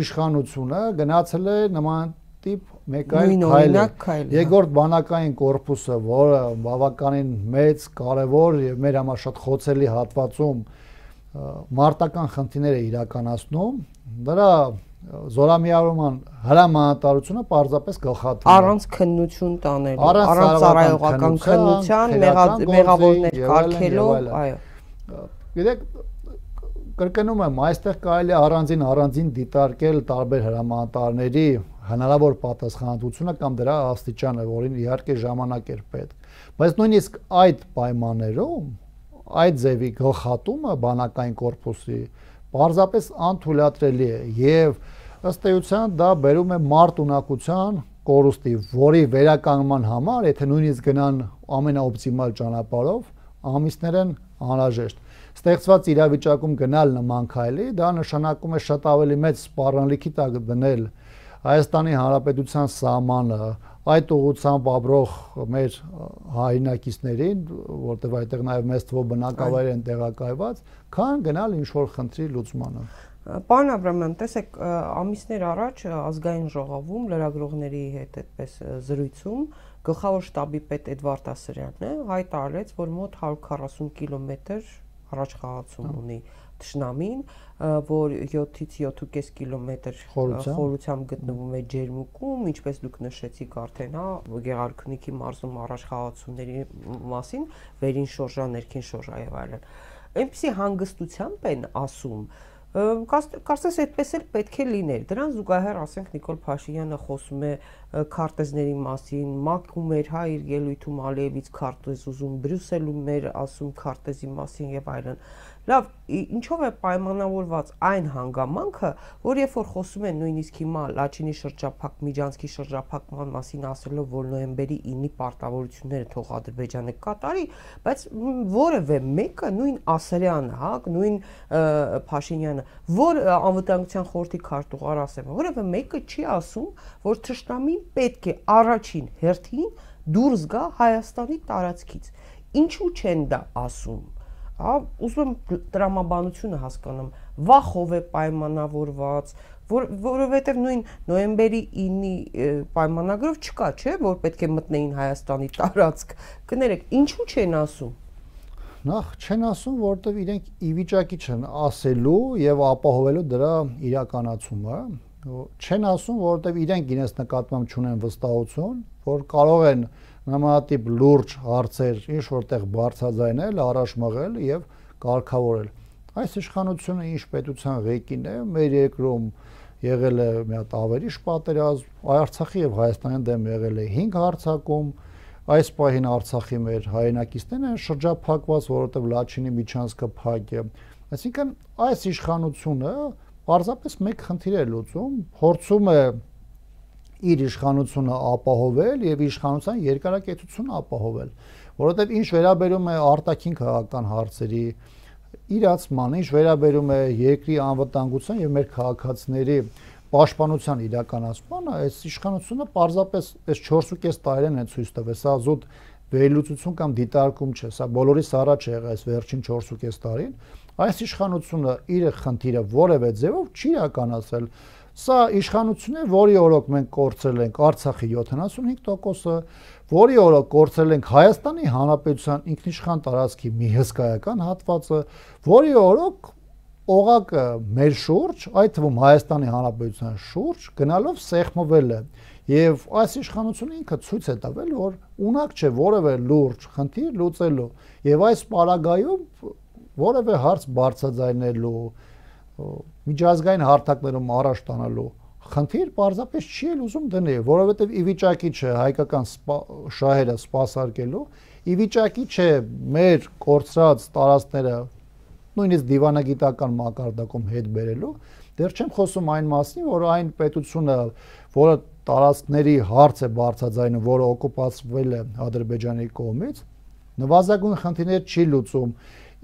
իշխանությունը գնացել է նման տիպ մեկ այլ քայլ։ Երկրորդ բանակային կորպուսը, որը բավականին մեծ, կարևոր եւ մեր համար շատ խոցելի հատվածում մարտական խնդիրներ է իրականացնում, դրա զորամիավորման հրամանատարությունը պարզապես գլխատվում է առանց քննություն տանելու, առանց ծառայողական քննության, մեղավորներ կարգելով, այո։ Գիտեք, կրկնում եմ, այստեղ կարելի է առանձին առանձին դիտարկել տարբեր հրամանատարների հնարավոր պատասխանատվությունը կամ դրա աստիճանը, որին իհարկե ժամանակ էր պետք։ Բայց նույնիսկ այդ պայմաններում այդ ձևի գլխատումը բանակային կորպուսի պարզապես անթույլատրելի է եւ ըստ էության դա բերում է մարտունակության կորուստի, որի վերականգնման համար, եթե նույնիսկ գնան ամենաօպտիմալ ճանապարհով, ամիսներ են անհրաժեշտ։ Ստեղծված իրավիճակում գնալ նման քայլի, դա նշանակում է շատ ավելի մեծ սպառնալիքի տակ դնել Հայաստանի Հանրապետության սահմանը, այդ ուղղությամբ ապրող մեր հայրենակիցներին, որտեղ այդտեղ նաև մեծ թվով բնակավայր են տեղակայված, քան գնալ ինչ-որ խնդրի լուծմանը։ Պարոն Աբրամյան, տեսեք, ամիսներ առաջ ազգային ժողովում լրագրողների հետ այդպես զրույցում գլխավոր շտաբի պետ Էդվարդ Ասրյանն է հայտարարեց, որ մոտ հարյուր քառասուն կիլոմետր առաջխաղացում ունի թշնամին, որ յոթից յոթ ու կես կիլոմետր խորությամբ գտնվում է ջերմուկում, ինչպես դուք նշեցիք արդեն, հա, Գեղարքունիքի մարզում առաջխաղացումների մասին, վերին շորժա, ներքին շորժա եւ այլն։ Այնպեսի հանգստությամբ են ասում, կարծես այդպես էլ պետք է լիներ։ Դրան զուգահեռ, ասենք, Նիկոլ Փաշինյանը խոսում է քարտեզների մասին, մակում էր հա իր ելույթում Ալիևից քարտեզ ուզում, Բրյուսելում էր ասում քարտեզի մասին եւ այլն։ Լավ, ինչով է պայմանավորված այն հանգամանքը, որ երբ որ խոսում են նույնիսկ հիմա Լաչինի շրջափակ, Միջանցքի շրջափակման մասին ասելով, որ նոյեմբերի ինի պարտավորությունները թող Ադրբեջանը կատարի, բայց որևէ մեկը, նույն Ասրյանը, հա, նույն Փաշինյանը, որ անվտանգության խորհրդի քարտուղար ասեմ, որևէ մեկը չի ասում, որ թշնամին պետք է առաջին հերթին դուրս գա Հայաստանի տարածքից։ Ինչու չեն դա ասում։ Հա, ուզում եմ տրամաբանությունը հասկանամ, վախով է պայմանավորված, որովհետև նույն նոյեմբերի ինի պայմանագրով չկա, չէ, որ պետք է մտնեին Հայաստանի տարածք։ Կներեք, ինչու չեն ասում։ Նախ չեն ասում, որովհետև իրենք ի վիճակի չեն ասելու եւ ապահովելու դրա իրականացումը, չեն ասում, որովհետև իրենք իրենց նկատմամբ չունեն վստահություն, որ կարող են նմանատիպ լուրջ հարցեր ինչ որտեղ բարձրաձայնել, առաջ մղել եւ կարգավորել։ Այս իշխանությունը ինչ պետության ղեկին է, մեր երկրում եղել է մի հատ ավերիչ պատերազմ, Արցախի եւ Հայաստանի դեմ եղել է հինգ հարձակում, այս պահին Արցախի մեր հայրենակիցներն են շրջափակված, որովհետև Լաչինի միջանցքը փակ է։ Այսինքն այս իշխանությունը պարզապես մեկ խնդիր է լուծում, փորձում է իր իշխանությունը ապահովել եւ իշխանության երկարակեցությունը ապահովել, որովհետև ինչ վերաբերում է արտաքին քաղաքական հարցերի իրացման, ինչ վերաբերում է երկրի անվտանգության եւ մեր քաղաքացիների պաշտպանության իրականացմանը, այս իշխանությունը պարզապես այս չորսուկես տարին է ցույց տվել, սա զուտ վերլուծություն կամ դիտարկում չէ, սա բոլորիս առաջ է եղել այս վերջին չորսուկես տարին, այս իշխանությունը իր խնդիրը որևէ ձևով չի իրականացրել, սա իշխանություն է, որի օրոք մենք կորցրել ենք Արցախի յոթանասունհինգ տոկոսը, որի օրոք կորցրել ենք Հայաստանի Հանրապետության ինքնիշխան տարածքի մի հսկայական հատվածը, որի օրոք օղակը մեր շուրջ, այդ թվում Հայաստանի Հանրապետության շուրջ գնալով սեղմվել է եւ այս իշխանությունը ինքը ցույց է տվել, որ ունակ չէ որևէ լուրջ խնդիր լուծելու եւ այս պարագայում որևէ հարց բարձրաձայնելու միջազգային հարթակներում առաջ տանելու խնդիր պարզապես չի էլ ուզում դնել, որովհետեւ ի վիճակի չէ հայկական շահերը սպասարկելու, ի վիճակի չէ մեր կորցրած տարածքները նույնիսկ դիվանագիտական մակարդակում հետ բերելու, դեռ չեմ խոսում այն մասին, որ այն պետությունը, որը տարածքների հարց է բարձրաձայնում, որը օկուպացվել է Ադրբեջանի կողմից, նվազագույն խնդիրներ չի լուծում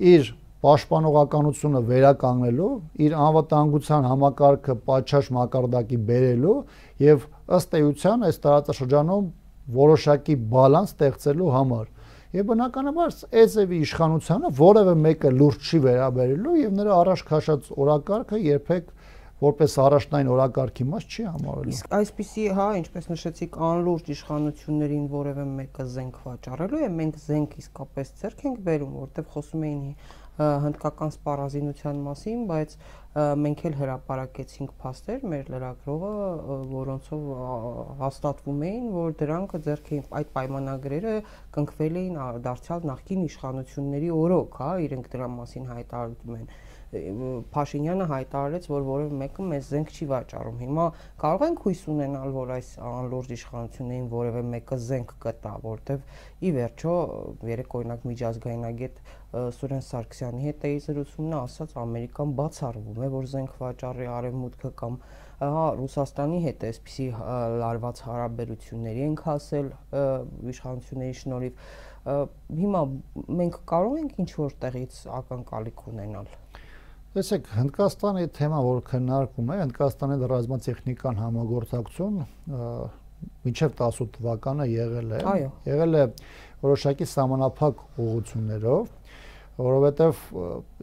իր պաշտպանողականությունը վերականգնելու, իր անվտանգության համակարգը պատշաճ մակարդակի բերելու եւ ըստ էության այս տարածաշրջանում որոշակի բալանս ստեղծելու համար։ Եվ բնականաբար Էզևի իշխանությանը որևէ մեկը լուրջ չի վերաբերելու եւ նրա առաջ քաշած օրակարգը երբեք որպես առաջնային օրակարգի մաս չի համարելու։ Իսկ այսպիսի, հա, ինչպես նշեցիք, անլուրջ իշխանություններին որևէ մեկը զենք վաճառելու է, մենք զենք իսկապես ձեռք ենք բերում, որտեղ խոսում էին հնդկական սպառազինության մասին, բայց մենք էլ հրապարակեցինք փաստեր մեր լրագրողը, որոնցով հաստատվում էին, որ դրանք ձեռք էին այդ պայմանագրերը կնքվել էին դարձյալ նախկին իշխանությունների օրոք, հա, իրենք դրա մասին հայտարարում են։ Փաշինյանը հայտարարեց, որ որևէ մեկը մեզ զենք չի վաճառում։ Հիմա կարող ենք հույս ունենալ, որ այս անլուրջ իշխանություններին որևէ մեկը զենք կտա, որտեվ ի վերջո երեք օրինակ միջազգայնագետ Սուրեն Սարգսյանի հետ էի զրուցումն ասաց, Ամերիկան բացառվում է, որ զենք վաճառի արևմուտքը կամ հա Ռուսաստանի հետ էսպիսի լարված հարաբերությունների ենք հասել իշխանությունների շնորհիվ։ Հիմա մենք կարող ենք ինչ-որ տեղից ակնկալիք ունենալ։ Տեսեք, Հնդկաստանի թեմա, որ քննարկում է, Հնդկաստանի ռազմատեխնիկական համագործակցություն մինչև տասը թվականը եղել է, եղել է որոշակի սահմանափակ ուղղություններով, որովհետև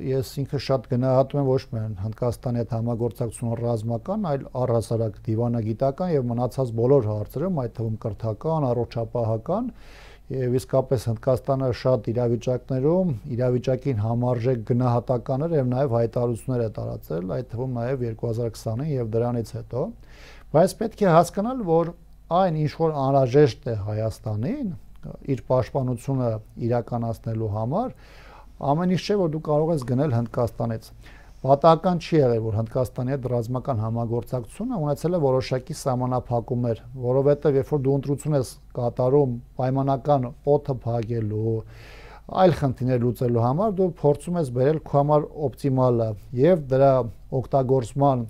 ես ինքը շատ գնահատում եմ ոչ միայն Հնդկաստանի հետ համագործակցությունը ռազմական, այլ առհասարակ դիվանագիտական եւ մնացած բոլոր հարցերում, այդ թվում կրթական, առողջապահական, եւ իսկապես Հնդկաստանը շատ իրավիճակներում իրավիճակին համարժեք գնահատականներ եւ նաեւ հայտարարություններ է տարածել, այդ թվում նաեւ երկու հազար քսանին եւ դրանից հետո, բայց պետք է հասկանալ, որ այն ինչ որ անհրաժեշտ է Հայաստանին իր պաշտպանությունը իրականացնելու համար, ամեն ինչ չէ, որ դու կարող ես գնել Հնդկաստանից։ Պատահական չի եղել, որ Հնդկաստանի հետ ռազմական համագործակցությունը ունեցել է որոշակի սահմանափակումներ, որովհետև երբ որ դու ընտրություն ես կատարում պայմանական օդը փակելու, այլ խնդիրներ լուծելու համար, դու փորձում ես բերել քո համար օպտիմալը եւ դրա օգտագործման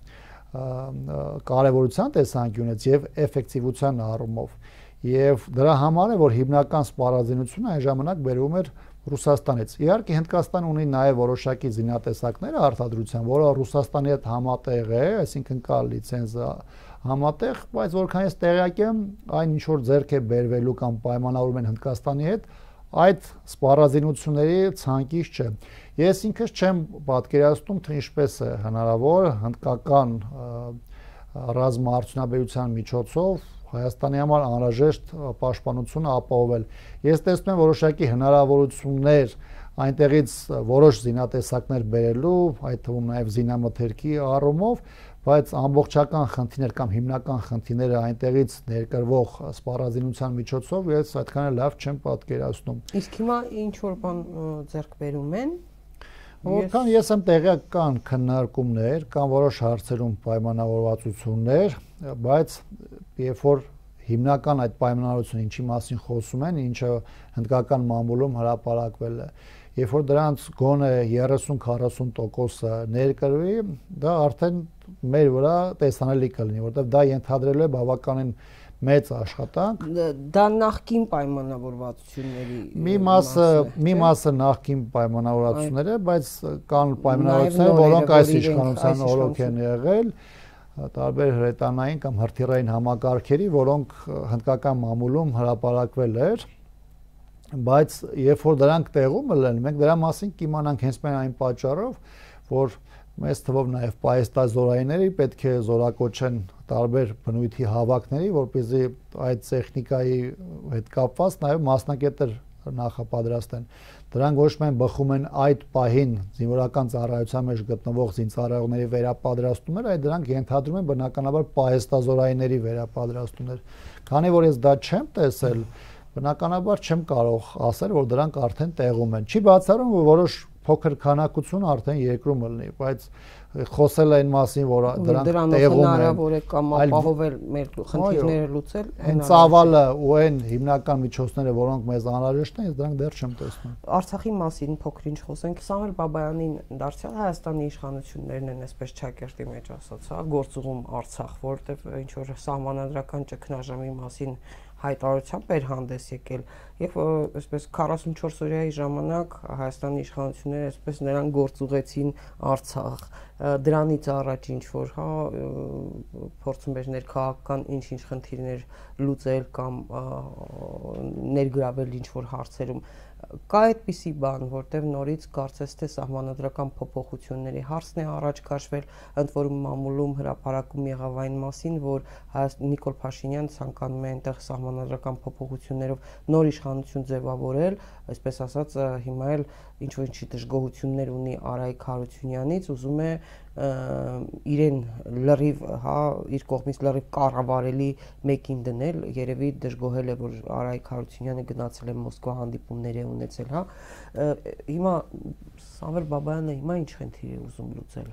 կարևորության տեսանկյունից եւ էֆեկտիվության առումով։ Եվ դրա համար է, որ հիմնական սպառազինությունը այն ժամանակ բերում էր Ռուսաստանից։ Իհարկե Հնդկաստանը ունի նաև որոշակի զինատեսակներ արտադրության, որը Ռուսաստանի հետ համատեղ է, այսինքն կա լիցենզը համատեղ, բայց որքան ես տեղյակ եմ, այն ինչ որ ձեռք է բերվելու կամ պայմանավորում են Հնդկաստանի հետ, այդ սպառազինությունների ցանկից չէ։ Ես ինքս չեմ պատկերացնում, թե ինչպես է հնարավոր հնդկական ռազմաարդյունաբերության միջոցով Հայաստանի համար անհրաժեշտ պաշտպանությունը ապահովել։ Ես տեսնում եմ որոշակի հնարավորություններ այնտեղից որոշ զինատեսակներ բերելու, այդ թվում նաև զինամթերքի առումով, բայց ամբողջական խնդիրներ կամ հիմնական խնդիրները այնտեղից ներկրվող սպառազինության միջոցով ես այդքան էլ լավ չեմ պատկերացնում։ Իսկ հիմա ինչ որ բան ձեռք բերում են։ Որքան ես եմ տեղյակ կան քննարկումներ, կան որոշ հարցերում պայմանավորվածություններ, բայց երբ որ հիմնական այդ պայմանավորվածությունը ինչի մասին խոսում են, ինչը հնդկական մամուլում հրապարակվել է, երբ որ դրանց գոնե երեսուն-քառասուն տոկոսը ներկրվի, դա արդեն մեր վրա տեսանելի կլինի, որովհետև դա ենթադրելու է բավականին մեծ աշխատանք։ Դա նախկին պայմանավորվածությունների մի մասը մի մասը նախկին պայմանավորվածություններ է, բայց կան պայմանավորվածություններ, որոնք այս իշխանության օրոք են եղել, տարբեր հրետանային կամ հրթիռային համակարգերի, որոնք հնդկական մամուլում հրապարակվել էր, բայց երբ որ դրանք տեղում են, մենք դրա մասին կիմանանք հենց այն պատճառով, որ մեծ թվով նաև պահեստազորայինները պետք է զորակոչեն տարբեր բնույթի հավաքների, որպեսզի այդ տեխնիկայի հետ կապված նաև մասնակետեր նախապատրաստեն։ Դրանք ոչ միայն բխում են այդ պահին զինվորական ծառայության մեջ գտնվող զինծառայողների վերապատրաստումներ, այլ դրանք ենթադրում են բնականաբար պահեստազորայինների վերապատրաստումներ։ Քանի որ ես դա չեմ տեսել, բնականաբար չեմ կարող ասել, որ դրանք արդեն տեղում են։ Չի բացառում, որ որոշ փոքր քանակություն արդեն երկրում լինի, բայց խոսել այն մասին, որ դրանք տեղում են, հնարավոր է կամ ապահովել մեր խնդիրները լուծել, այն ծավալը ու այն հիմնական միջոցները, որոնք մեզ անհրաժեշտ են, ես դրանք դեռ չեմ տեսնում։ Արցախի մասին փոքր-ինչ խոսենք, Սամվել Բաբայանին դարձյալ Հայաստանի իշխանություններն են այսպես ճակերտի մեջ ասած, հա, գործուղում Արցախ, որովհետև ինչ որ սահմանադրական ճգնաժամի մասին հայտարարությամբ էր հանդես եկել եւ այսպես քառասունչորս օրյայի ժամանակ Հայաստանի իշխանությունները այսպես նրան գործուղեցին Արցախ, դրանից առաջ ինչ որ հա փորձում էր ներքաղաքական ինչ-ինչ խնդիրներ լուծել կամ ներգրավել ինչ որ հարցերում, կա այդպիսի բան, որտեղ նորից կարծես թե սահմանադրական փոփոխությունների հարցն է առաջ քաշվել, ընդ որում մամուլում հրապարակում եղավ այն մասին, որ Նիկոլ Փաշինյանը ցանկանում է այնտեղ սահմանադրական փոփոխություններով նոր իշխանություն ձևավորել, այսպես ասած հիմա էլ ինչ որ ինչի դժգոհություններ ունի Արայիկ Հարությունյանից, ուզում է իրեն լրիվ, հա, իր կողմից լրիվ կառավարելի մեկին դնել, երևի դժգոհել է, որ Արայիկ Հարությունյանը գնացել է Մոսկվա, հանդիպումներ է ունեցել, հա։ Հիմա Սամվել Բաբայանը հիմա ինչ խնդիր է ուզում լուծել։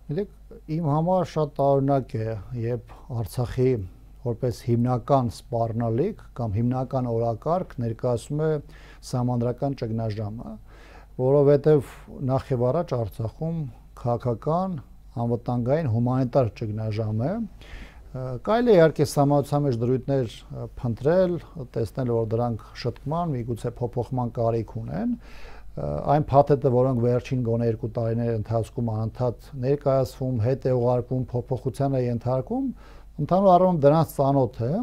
Գիտեք, իմ համար շատ տարօրինակ է, երբ Արցախի որպես հիմնական սպառնալիք կամ հիմնական օրակարգ ներկայացում է սահմանադրական ճգնաժամը, որովհետև նախ եւ առաջ Արցախում քաղաքական, անվտանգային, հումանիտար ճգնաժամ է։ Կարելի է իհարկե սահմանության մեջ դրույթներ փնտրել, տեսնել, որ դրանք շտկման, միգուցե փոփոխման կարիք ունեն։ Այն փաթեթը, որոնք վերջին գոնե երկու տարիների ընթացքում անընդհատ ներկայացվում, հետ է ուղարկվում, փոփոխության է ենթարկվում, ընդհանուր առմամբ դրանց ծանոթ է,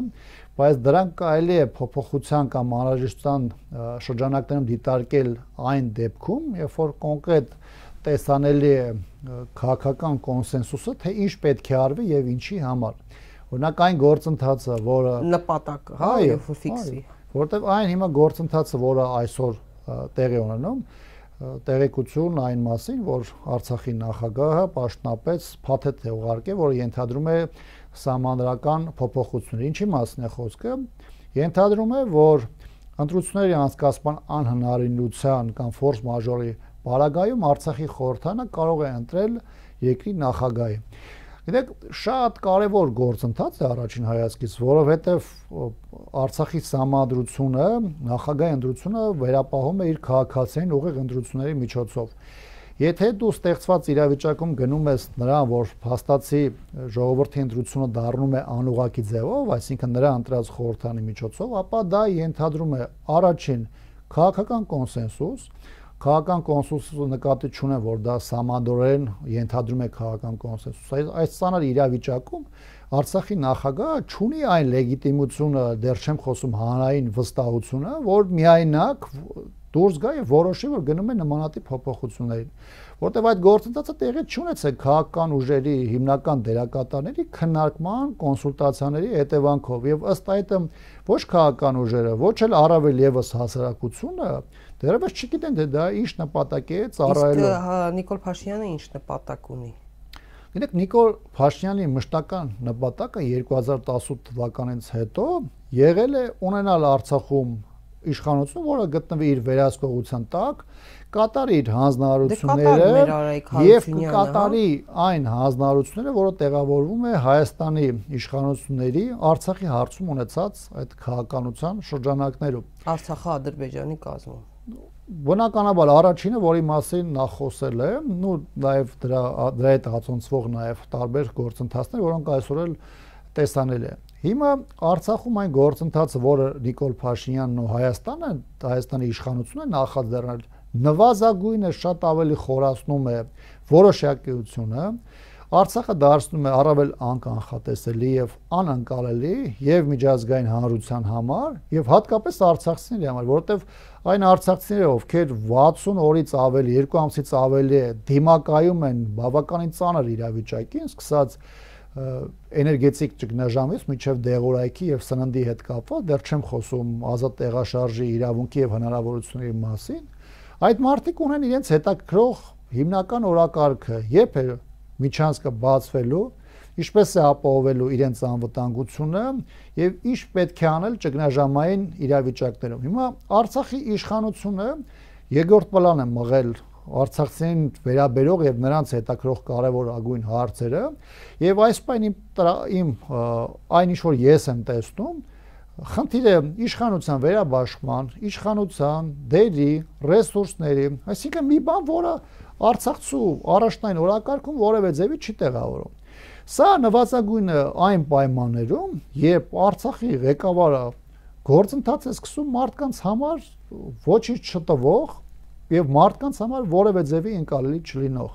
բայց դրանք կարելի է փոփոխության կամ անհրաժեշտության շրջանակներում դիտարկել այն դեպքում, երբ որ կոնկրետ տեսանելի է քաղաքական կոնսենսուսը, թե ինչ պետք է արվի եւ ինչի համար։ Օրինակ այն գործընթացը, որը նպատակը, հա, երբ որ ֆիքսվի, որտեւ այն հիմա գործընթացը, որը այսօր տեղի ունենում, տեղեկություն այն մասին, որ Արցախի նախագահը պաշտոնապես փաթեթ է ուղարկել, որը ենթադրում է սահմանադրական փոփոխություններ։ Ինչի մասին է խոսքը։ Ենթադրում է, որ ընտրությունների անցկացման անհնարինության կամ ֆորս մաժորի Պարագայում Արցախի խորհրդանը կարող է ընտրել երկրի նախագահի։ Գիտեք, շատ կարևոր գործընթաց է առաջին հայացքից, որովհետև Արցախի սահմանադրությունը, նախագահի ընտրությունը վերապահում է իր քաղաքացիային ուղիղ ընտրությունների միջոցով։ Եթե դու ստեղծված իրավիճակում գնում ես նրան, որ փաստացի ժողովրդի ընտրությունը դառնում է անուղղակի ձևով, այսինքն նրա ընտրած խորհրդանի միջոցով, ապա դա ենթադրում է առաջին քաղաքական կոնսենսուս, քաղաքական կոնսենսուսը նկատի չունեն, որ դա սահմանադրորեն ենթադրում է քաղաքական կոնսենսուս։ Այս ցաներ իրավիճակում Արցախի նախագահը չունի այն լեգիտիմությունը, դեռ չեմ խոսում հանրային վստահությունը, որ միայնակ դուրս գա եւ որոշի, որ գնում է նմանատիպ փոփոխություններին, որտեղ այդ գործընթացը տեղի չունեցել քաղաքական ուժերի հիմնական դերակատարների քննարկման, կոնսուլտացիաների հետևանքով եւ ըստ այդմ ոչ քաղաքական ուժերը, ոչ էլ առավել եւս հասարակությունը դեռևս չգիտեն թե դա ինչ նպատակ է ծառայելու։ Իսկ Նիկոլ Փաշինյանը ինչ նպատակ ունի։ Գիտեք, Նիկոլ Փաշինյանի մշտական նպատակը երկու հազար տասութ թվականից հետո եղել է ունենալ Արցախում իշխանություն, որը գտնվի իր վերահսկողության տակ, կատարի իր հանձնարարությունները եւ կատարի այն հանձնարարությունները, որը տեղավորվում է Հայաստանի իշխանությունների Արցախի հարցում ունեցած այդ քաղաքականության շրջանակներում։ Արցախը Ադրբեջանի կազմում։ Բնականաբար առաջինը, որի մասին նա խոսել է, ու նաև դրա դրա հետ հացոնցվող նաև տարբեր գործընթացներ, որոնք այսօր էլ տեսանել են։ Հիմա Արցախում այն գործընթացը, որը Նիկոլ Փաշինյանն ու Հայաստանը, Հայաստանի իշխանությունը նախաձեռնել, նվազագույնը շատ ավելի խորացնում է որոշակիությունը, Արցախը դարձնում է առավել անկանխատեսելի եւ անընկալելի եւ միջազգային հանրության համար եւ հատկապես արցախցիների համար, որովհետեւ այն արցախցիները, ովքեր վաթսուն օրից ավելի, երկու ամսից ավելի դիմակայում են բավականին ծանր իրավիճակին, սկսած էներգետիկ ճգնաժամից մինչև դեղորայքի եւ սննդի հետ կապված, դեռ չեմ խոսում ազատ տեղաշարժի իրավունքի եւ հնարավորությունների մասին, այդ մարդիկ ունեն իրենց հետաքրող հիմնական օրակարգը, երբ է միջանցքը բացվելու, ինչպես է ապահովելու իրենց անվտանգությունը եւ ինչ պետք է անել ճգնաժամային իրավիճակներում։ Հիմա Արցախի իշխանությունը երկրորդ պլան է մղել արցախցիներին վերաբերող եւ նրանց հետաքրող կարեւոր agույն հարցերը եւ այս պայն իմ այն ինչ որ ես եմ տեսնում, խնդիրը իշխանության վերաբաշխման, իշխանության, դերի, ռեսուրսների, այսինքն մի բան, որը Արցախցու առաջնային օրակարգում որևէ ձևի չի տեղավորում։ Սա նվազագույնը այն պայմաններում, երբ Արցախի ղեկավարը գործընթաց է սկսում մարդկանց համար ոչինչ չտվող եւ մարդկանց համար որևէ ձևի ընկալելի չլինող։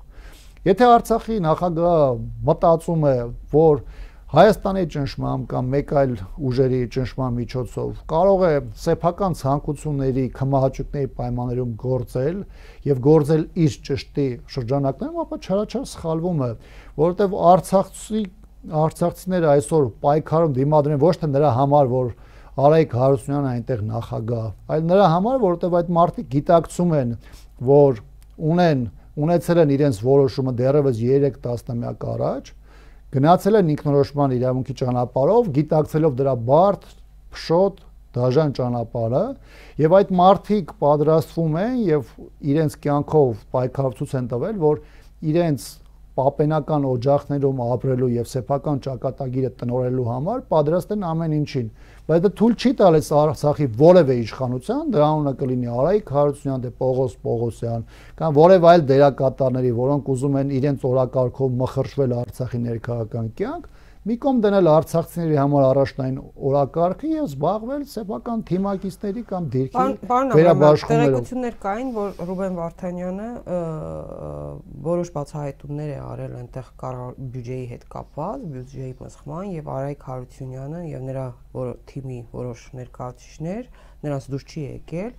Եթե Արցախի նախագահը մտածում է, որ Հայաստանի ճնշմամբ կամ մեկ այլ ուժերի ճնշման միջոցով կարող է սեփական ցանկությունների, քմահաճույքների պայմաններում գործել եւ գործել իր ճշտի շրջանակներում, ապա չարաչար սխալվում է, որովհետեւ Արցախցի արցախցիները այսօր պայքարում դիմադրեն ոչ թե նրա համար, որ Արայիկ Հարությունյանը այնտեղ նախագահ, այլ նրա համար, որովհետեւ այդ մարդիկ գիտակցում են, որ ունեն ունեցել են իրենց որոշումը դեռևս երեք տասնամյակ առաջ, գնացել են ինքնորոշման իրավունքի ճանապարհով, գիտակցելով դրա բարդ, փշոտ, դաժան ճանապարհը, եւ այդ մարդիկ պատրաստվում են եւ իրենց կյանքով պայքարություն են տվել, որ իրենց պապենական օջախներում ապրելու եւ սեփական ճակատագիրը տնորելու համար պատրաստ են ամեն ինչին, բայց դա թույլ չի տալիս Արցախի որևէ իշխանության, դրա անունը կլինի Արայիկ Հարությունյան, դե Պողոս Պողոսյան, կամ որևէ այլ դերակատարների, որոնք ուզում են իրենց օրակարգով մխրճվել Արցախի ներքաղաքական կյանք, մի կողմ դնել արցախցիների համար առաջնային օրակարգը եւ զբաղվել սեփական թիմակիցների կամ դիրքի վերաբաշխումներով։ Տեղեկություններ կային, որ Ռուբեն Վարդանյանը որոշ բացահայտումներ է արել այնտեղ բյուջեի հետ կապված, բյուջեի մսխման, եւ Արայիկ Հարությունյանը եւ նրա թիմի որոշ ներկայացուցիչներ նրանց դուրս չի եկել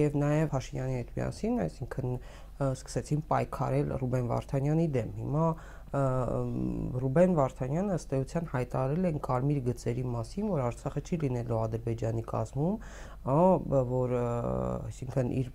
եւ նաեւ Փաշինյանի հետ միասին, այսինքն սկսեցին պայքարել Ռուբեն Վարդանյանի դեմ։ Հիմա Ռուբեն Վարդանյանը ըստ էության հայտարարել են կարմիր գծերի մասին, որ Արցախը չի լինելու Ադրբեջանի կազմում, որ այսինքն իր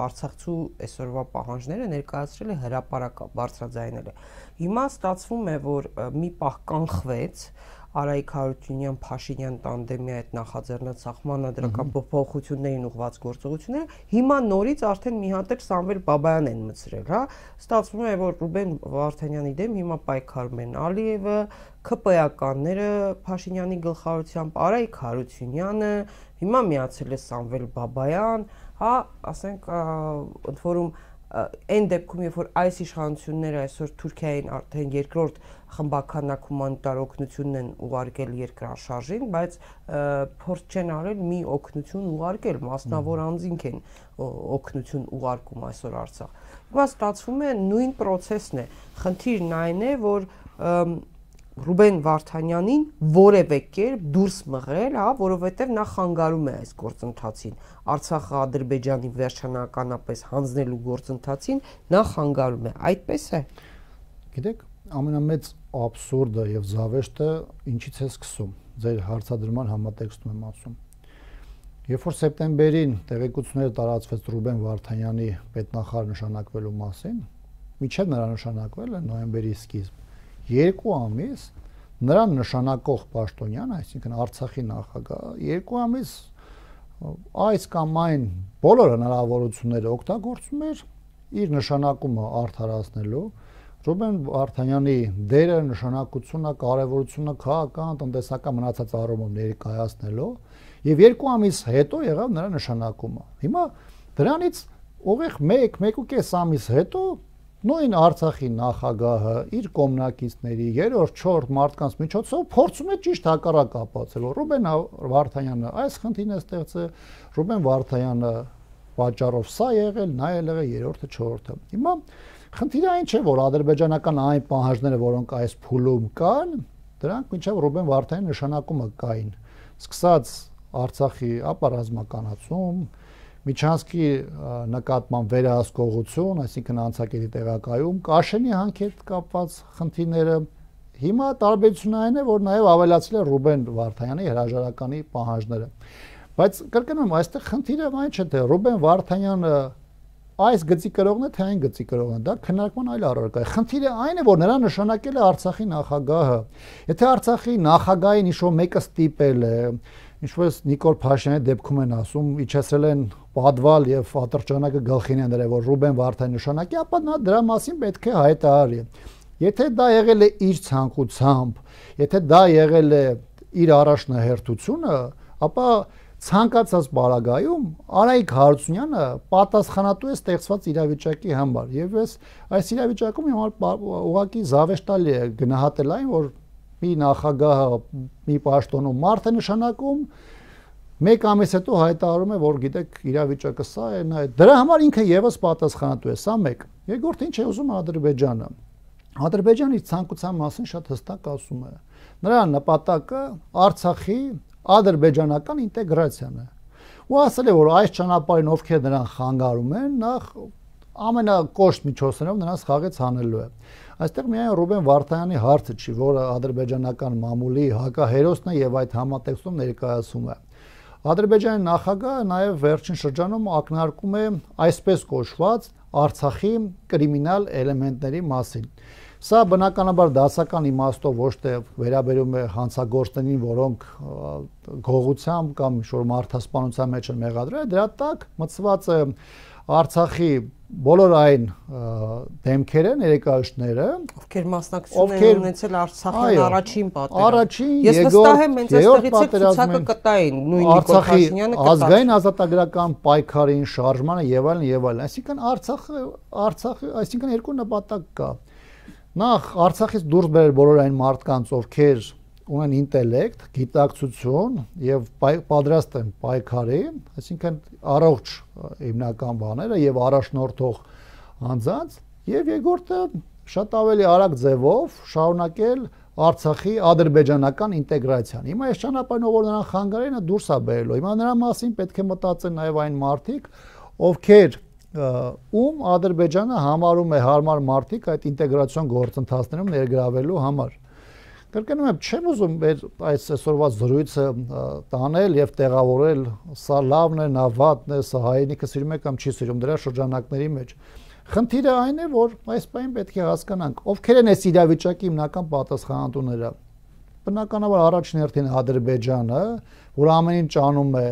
արցախցու այսօրվա պահանջները ներկայացրել է հրապարակ բարձրաձայնել է։ Հիմա ստացվում է, որ մի պահ կանխվեց Արայիկ Հարությունյան Փաշինյան տանդեմի այդ նախաձեռնած սահմանադրական փոփոխություններին ուղղված գործողությունները, հիմա նորից արդեն մի հատ էլ Սամվել Բաբայան են մցրել, հա, ստացվում է, որ Ռուբեն Վարդանյանի դեմ հիմա պայքարում են Ալիևը, ՔՊ-ականները Փաշինյանի գլխավորությամբ, Արայիկ Հարությունյանը, հիմա միացել է Սամվել Բաբայան, հա, ասենք ընդ որում այն դեպքում, երբ որ այս իշխանությունները այսօր Թուրքիային արդեն երկրորդ խմբականակ հումանիտար օգնությունն են ուղարկել երկրաշարժին, բայց փորձ չեն արել մի օգնություն ուղարկել, մասնավոր անձինք են օգնություն ուղարկում այսօր Արցախ։ Հիմա ստացվում է նույն process-ն է։ Խնդիրն այն է, որ Ռուբեն Վարդանյանին որևէ կերպ դուրս մղել, հա, որովհետև նա խանգարում է այս գործընթացին։ Արցախը Ադրբեջանի վերջնականապես հանձնելու գործընթացին նա խանգարում է։ Այդպես է։ Գիտեք, ամենամեծ աբսուրդը եւ զավեշտը ինչից է սկսում։ Ձեր հարցադրման համատեքստում եմ ասում։ Երբ որ սեպտեմբերին տեղեկությունները տարածվեց Ռուբեն Վարդանյանի պետնախարար նշանակվելու մասին, մինչև նրա նշանակվելը նոյեմբերի սկիզբ, երկու ամիս նրան նշանակող պաշտոնյան, այսինքն Արցախի նախագահ, երկու ամիս այս կամ այն բոլոր հնարավորությունները օգտագործում էր իր նշանակումը արդարացնելու, Ռուբեն Վարդանյանի դերը, նշանակությունը, կարևորությունը քաղաքական, տնտեսական մնացած առումով ներկայացնելու եւ երկու ամիս հետո եղավ նրա նշանակումը։ Հիմա դրանից ուղիղ մեկ, մեկ ու կես ամիս հետո նույն Արցախի նախագահը իր կողմնակիցների երրորդ, չորրորդ մարդկանց միջոցով փորձում է ճիշտ հակառակ ապացուցել, որ Ռուբեն Վարդանյանը այս խնդիրն է ստեղծել, Ռուբեն Վարդանյանը պատճառով սա եղել, նա եղել է երրորդը, չորրորդը։ Հիմա խնդիրը այն չէ, որ ադրբեջանական այն պահանջները, որոնք այս փուլում կան, դրանք մինչև Ռուբեն Վարդանյանի նշանակումը կային։ Սկսած Արցախի ապառազմականացում, Միչանսկի նկատմամբ վերահսկողություն, այսինքն անցակետի տեղակայում, Կաշենի հանքետ կապված խնդիրները, հիմա տարբերությունը այն է, որ նաև ավելացել է Ռուբեն Վարդանյանի հրաժարականի պահանջները։ Բայց կրկնում եմ, այստեղ խնդիրը այն չէ, թե Ռուբեն Վարդանյանը այս գծի կրողն է, թե այն գծի կրողն է, դա քննարկման այլ առարկա է։ Խնդիրը այն է, որ նրա նշանակել է Արցախի նախագահը։ Եթե Արցախի նախագահին ինչ-որ մեկը ստիպել է, ինչպես Նիկոլ Փաշինյանի դեպքում են ասում, իջեցրել են պատվալ եւ ատրճանակը գլխին են դրել, որ Ռուբեն Վարդանյանը նշանակի, ապա նա դրա մասին պետք է հայտարարի։ Եթե դա եղել է իր ցանկությամբ, եթե դա եղել է իր առաջնահերթությունը, ապա ցանկացած բարագայում Արայիկ Հարությունյանը պատասխանատու է ստեղծված իրավիճակի համար եւ ես այս իրավիճակում հիմա ուղղակի զավեշտալի է գնահատել այն, որ մի նախագահը մի պաշտոնում մարդ է նշանակում, մեկ ամիս հետո հայտարարում է, որ գիտեք, իրավիճակը սա է, նա է։ Դրա համար ինքը եւս պատասխանատու է, սա մեկ։ Երկրորդ ինչ է ուզում Ադրբեջանը։ Ադրբեջանի ցանկության մասին շատ հստակ ասում է։ Նրա նպատակը Արցախի ադրբեջանական ինտեգրացիան է։ Ու ասել է, որ այս ճանապարհին ովքեր նրան խանգարում են, նախ ամենակոշտ միջոցներով նրանց խաղից հանելու է։ Այստեղ միայն Ռուբեն Վարդանյանի հարցը չի, որը ադրբեջանական մամուլի հակահերոսն է եւ այդ համատեքստում ներկայացում է։ Ադրբեջանի նախագահը նաեւ վերջին շրջանում ակնարկում է այսպես կոչված Արցախի կրիմինալ էլեմենտների մասին։ Սա բնականաբար դասական իմաստով ոչ թե վերաբերում է հանցագործներին, որոնք գողությամբ կամ ինչ-որ մարդասպանության մեջ են մեղադրել, դրա տակ մտցված է Արցախի բոլոր այն դեմքերը, ներկայացուցիչները, ովքեր մասնակցություն են ունեցել Արցախի առաջին պատերազմին։ Առաջին, ես վստահ եմ, հենց այստեղից է ցուցակը կտային, նույն Նիկոլ Փաշինյանը կտա։ Ազգային ազատագրական պայքարին, շարժմանը եւ այլն եւ այլն։ Այսինքն Արցախը, Արցախը, այսինքն երկու նպատակ կա։ Նախ Արցախից դուրս բերել բոլոր այն մարդկանց, ովքեր ունեն ինտելեկտ, գիտակցություն եւ պատրաստ են պայքարի, այսինքն առողջ հիմնական բաները եւ առաջնորդող անձանց, եւ երկրորդը շատ ավելի արագ ձևով շարունակել Արցախի ադրբեջանական ինտեգրացիան։ Հիմա այս ճանապարհով որ նրան խանգարեն, նա դուրս է բերելու։ Հիմա նրա մասին պետք է մտածեն նաեւ այն մարդիկ, ովքեր ում Ադրբեջանը համարում է հարմար մարդիկ այդ ինտեգրացիոն գործընթացներում ներգրավելու համար։ Կրկնում եմ, չեմ ուզում մեր այս այսօրվա զրույցը տանել եւ տեղավորել, սա լավն է, նա վատն է, սա հայրենիքը սիրում է կամ չի սիրում, դրա շրջանակների մեջ։ Խնդիրը այն է, որ այս բանը պետք է հասկանանք, ովքեր են այս իրավիճակի հիմնական պատասխանատուները։ Բնականաբար առաջին հերթին Ադրբեջանը, որ ամեն ինչ անում է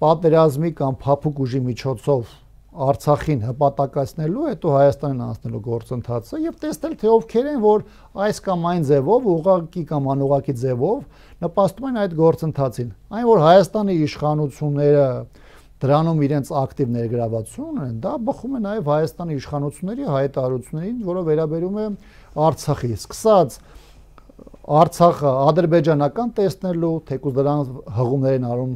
պատերազմի կամ փափուկ ուժի միջոցով Արցախին հպատակացնելու, հետո Հայաստանին անցնելու գործընթացը եւ տեսնել թե ովքեր են, որ այս կամ այն ձևով, ուղղակի կամ անուղղակի ձևով նպաստում են այդ գործընթացին։ Այն որ Հայաստանի իշխանությունները դրանում իրենց ակտիվ ներգրավություն ունեն, դա բխում է նաեւ Հայաստանի իշխանությունների հայտարարություններին, որը վերաբերում է Արցախի, սկսած Արցախը ադրբեջանական տեսնելու, թեկուզ դրան հղումներ են արում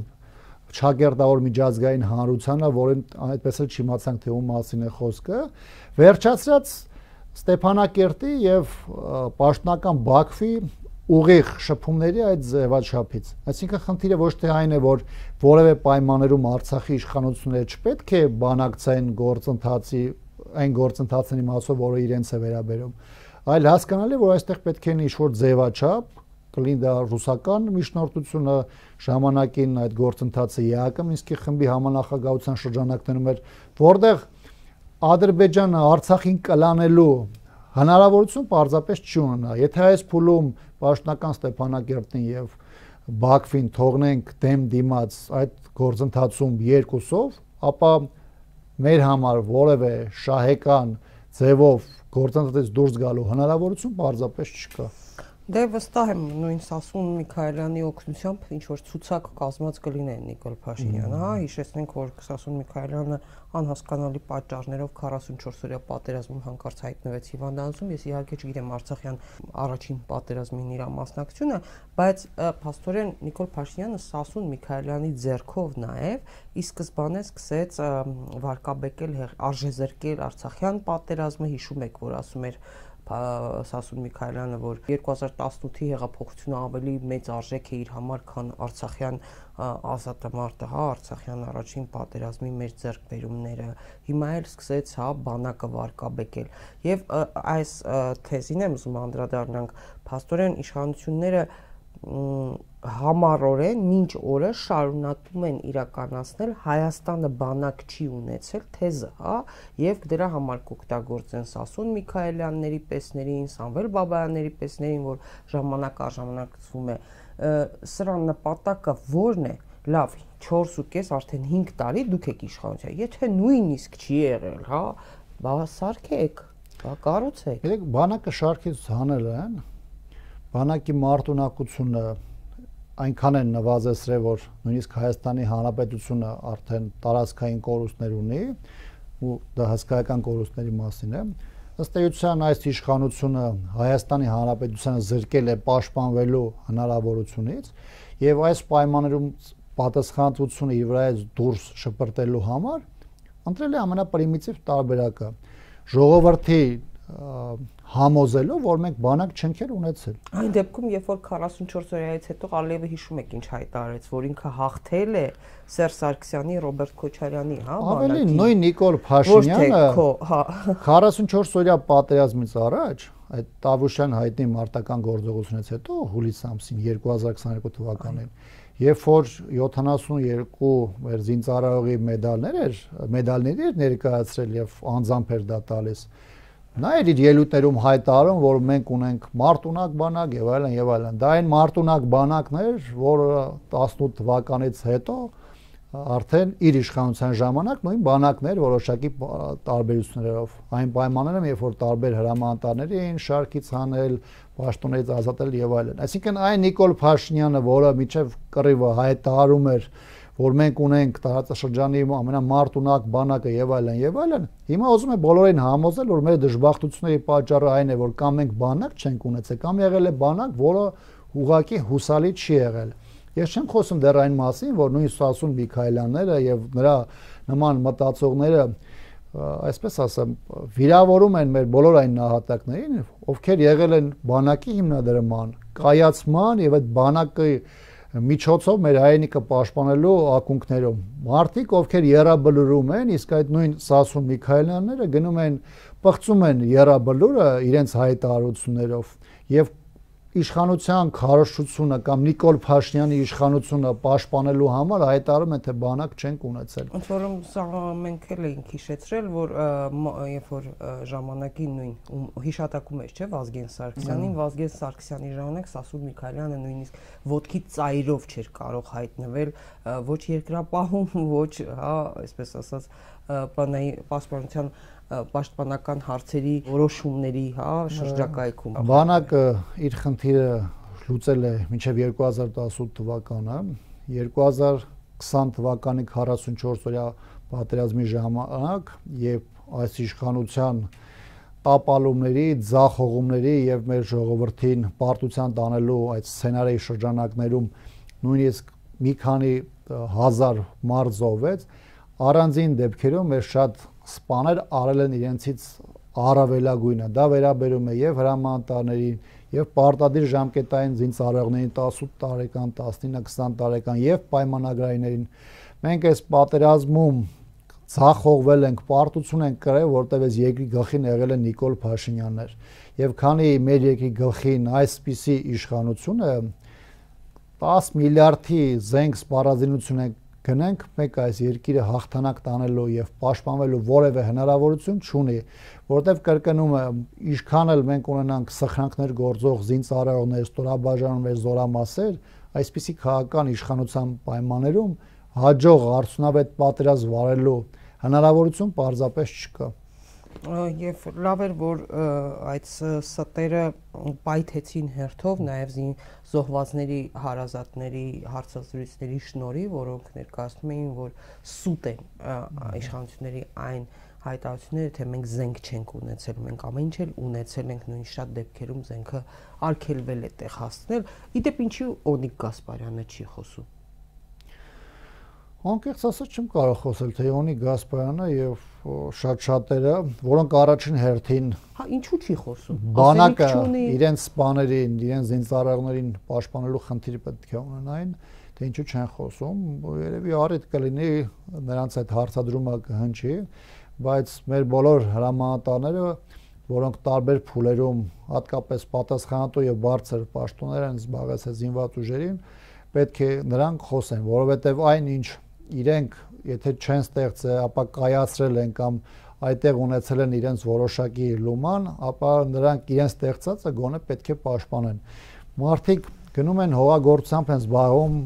Չագերտավոր միջազգային հանրությանը, որին այդպես էլ չիմացանք թե ում մասին է խոսքը, վերջացրած Ստեփանակերտի եւ Պաշտոնական Բաքվի ուղիղ շփումների այդ ձևաչափից։ Այսինքն խնդիրը ոչ թե այն է, որ որևէ պայմաններում Արցախի իշխանությունները չպետք է բանակցային գործընթացի այն գործընթացների մասով, որը իրենց է վերաբերում, այլ հասկանալի, որ այստեղ պետք է ինչ-որ ձևաչափ, կլինի դա ռուսական միջնորդությունը, ժամանակին այդ գործընթացը ԵԱՀԿ Մինսկի խմբի համանախագահության շրջանակներում էր, որտեղ Ադրբեջանը Արցախին կլանելու հնարավորություն պարզապես չի ունենա։ Եթե այս փուլում պաշտոնական Ստեփանակերտին եւ Բաքվին թողնենք դեմ դիմաց այդ գործընթացում երկուսով, ապա մեր համար որևէ շահեկան ձևով գործընթացից դուրս գալու հնարավորություն պարզապես չկա։ Դե վստահ եմ նույն Սասուն Միքայելյանի օգնությամբ ինչ որ ցուցակ կազմած կլինեն Նիկոլ Փաշինյանը, հա, հիշեցնենք, որ Սասուն Միքայելյանը անհասկանալի պատճառներով քառասունչորս օրյա պատերազմում հանկարծ հայտնվեց հիվանդանոցում։ Ես իհարկե չգիտեմ Արցախյան առաջին պատերազմին իր մասնակցությունը, բայց փաստորեն Նիկոլ Փաշինյանը Սասուն Միքայելյանի ձեռքով նաև ի սկզբանե սկսեց վարկաբեկել, արժեզրկել Արցախյան պատերազմը, հիշում եք, որ ասում էր Սասուն Միքայելյանը, որ երկու հազար տասնութի հեղափոխությունը ավելի մեծ արժեք է իր համար, քան Արցախյան ազատամարտը, հա, Արցախյան առաջին պատերազմի մեր ձեռքբերումները։ Հիմա էլ սկսեց, հա, բանակը վարկաբեկել։ Եվ այս թեզին եմ ուզում անդրադառնանք, փաստորեն իշխանությունները համառորեն մինչ օրս շարունակում են իրականացնել Հայաստանը բանակ չի ունեցել թեզը, հա, եւ դրա համար կօգտագործեն Սասուն Միքայելյանների պեսներին, Սամվել Բաբայանների պեսներին, որ ժամանակ առ ժամանակ ծվում է։ Սրա նպատակը ո՞րն է։ Լավ, չորսուկես արդեն հինգ տարի դուք եք իշխանության։ Եթե նույնիսկ չի եղել, հա, բա սարքեք, բա կառուցեք։ Գիտեք, բանակը շարքից հանել են, բանակի մարտունակությունը այնքան են նվազեցրել, որ նույնիսկ Հայաստանի Հանրապետությունը արդեն տարածքային կորուստներ ունի, ու դա հսկայական կորուստների մասին է։ Ըստ էության այս իշխանությունը Հայաստանի Հանրապետությանը զրկել է պաշտպանվելու հնարավորությունից, եւ այս պայմաններում պատասխանատվությունը իր վրայից դուրս շպրտելու համար ընտրել է ամենապրիմիտիվ տարբերակը՝ ժողովրդի համոզելով, որ մենք բանակ չենք էլ ունեցել։ Այն դեպքում, երբ որ քառասունչորս օրյայից հետո Ալիևը հիշում եք ինչ հայտարարեց, որ ինքը հաղթել է Սերժ Սարգսյանի, Ռոբերտ Քոչարյանի, հա, բանակի։ Ավելի նույն Նիկոլ Փաշինյանը հա քառասունչորս օրյա պատերազմից առաջ, այդ Տավուշյան հայտնի մարտական գործողությունից հետո հուլիս ամսին երկու հազար քսաներկու թվականին, երբ որ յոթանասունուերկու մեր զինծառայողի մեդալներ էր, մեդալների էր ներկայացրել եւ անձամբ էր դա տալիս, նա էր իր ելույթներում հայտարարում, որ մենք ունենք մարտունակ բանակ եւ այլն եւ այլն։ Դա այն մարտունակ բանակն էր, որը տասնութ թվականից հետո արդեն իր իշխանության ժամանակ նույն բանակն էր որոշակի տարբերություններով։ Այն պայմաններում, երբ որ տարբեր հրամանատարների էին շարքից հանել, պաշտոններից ազատել եւ այլն։ Այսինքն այն Նիկոլ Փաշինյանը, որը միջև կռիվը հայտարարում էր, որ մենք ունենք տարածաշրջանի ամենամարտունակ բանակը եւ այլն եւ այլն, հիմա ուզում է բոլորին համոզել, որ մեր դժբախտությունների պատճառը այն է, որ կամ մենք բանակ չենք ունեցել, կամ եղել է բանակ, որը ուղղակի հուսալի չի եղել։ Ես չեմ խոսում դեռ այն մասին, որ նույն Սասուն Միքայելյանները եւ նրա նման մտածողները, այսպես ասեմ, վիրավորում են մեր բոլոր այն նահատակներին, ովքեր եղել են բանակի հիմնադրման, կայացման եւ այդ բանակի միջոցով մեր հայրենիքը պաշտպանելու ակունքներում։ Մարդիկ, ովքեր եռաբլուրում են, իսկ այդ նույն Սասուն Միքայելյանները գնում են, պղծում են եռաբլուրը իրենց հայտարարություններով եւ իշխանության քարոզչությունը կամ Նիկոլ Փաշինյանի իշխանությունը պաշտպանելու համար հայտարարում են, թե բանակ չենք ունեցել։ Ոնց որում սա մենք էլ էինք հիշեցրել, որ երբ որ ժամանակին նույն հիշատակում էր, չէ, Վազգեն Սարգսյանին, Վազգեն Սարգսյանի ժամանակ Սասուն Միքայելյանը նույնիսկ ոտքի ծայրով չէր կարող հայտնվել ոչ երկրապահում, ոչ, հա, այսպես ասած, պաշտպանության պաշտպանական հարցերի որոշումների, հա, շրջակայքում։ Բանակը իր խնդիրը լուծել է մինչև երկու հազար տասնութ թվականը, երկու հազար քսան թվականի քառասունչորս օրյա պատերազմի ժամանակ, երբ այս իշխանության տապալումների, ձախողումների եւ մեր ժողովրդին պարտության տանելու այդ սցենարի շրջանակներում նույնիսկ մի քանի հազար մարդ զոհվեց, առանձին դեպքերում մեր շատ սպաներ արել են իրենցից առավելագույնը։ Դա վերաբերում է եւ հրամանատարներին, եւ պարտադիր ժամկետային զինծառայողներին տասութ տարեկան, տասնինը, քսան տարեկան եւ պայմանագրայիներին մենք այս պատերազմում ցախողվել ենք, պարտություն ենք կրել, որտեղ այս երկրի գլխին եղել է Նիկոլ Փաշինյաններ եւ քանի մեր երկրի գլխին այսպիսի իշխանություն է տասը միլիարդի զենք սպառազինություն ենք գնենք, մեկ այս երկիրը հաղթանակ տանելու եւ պաշտպանվելու որևէ հնարավորություն չունի, որտեվ կրկնում եմ, ինչքան էլ մենք ունենանք սխրանքներ գործող զինծառայողներ, ստորաբաժանումներ, զորամասեր, այսպիսի քաղաքական իշխանության պայմաններում հաջող արդյունավետ պատերազմ վարելու հնարավորություն պարզապես չկա։ Եվ լավ էր, որ այդ ստերը պայթեցին հերթով նաև զոհվածների հարազատների հարցազրույցների շնորհիվ, որոնք ներկայացնում էին, որ սուտ են իշխանությունների այն հայտարարությունները, թե մենք զենք չենք ունեցել, մենք ամեն ինչ էլ ունեցել ենք, նույն շատ դեպքերում զենքը արգելվել է տեղ հասցնել։ Իդեպ ինչի Օնիկ Գասպարյանը չի խոսում։ Անկեղծ ասած չեմ կարող խոսել, թե Օնիկ Գասպարյանը եւ շատ շատերը, որոնք առաջին հերթին հա ինչու չի խոսում։ Բանակը իրենց սպաներին, իրենց զինծառայողներին պաշտպանելու խնդիրը պետք է ունենային, թե ինչու չեն խոսում, երևի առիթ կլինի նրանց այդ հարցադրումը կհնչի, բայց մեր բոլոր հրամանատարները, որոնք տարբեր փուլերում հատկապես պատասխանատու եւ բարձր պաշտոններ են զբաղեցել զինված ուժերին, պետք է նրանք խոսեն, որովհետեւ այն ինչ իրենք եթե չեն ստեղծել, ապա կայացրել են կամ այդտեղ ունեցել են իրենց որոշակի լուման, ապա նրանք իրենց ստեղծածը գոնե պետք է պաշտպանեն։ Մարդիկ գնում են հողագործությամբ են զբաղվում,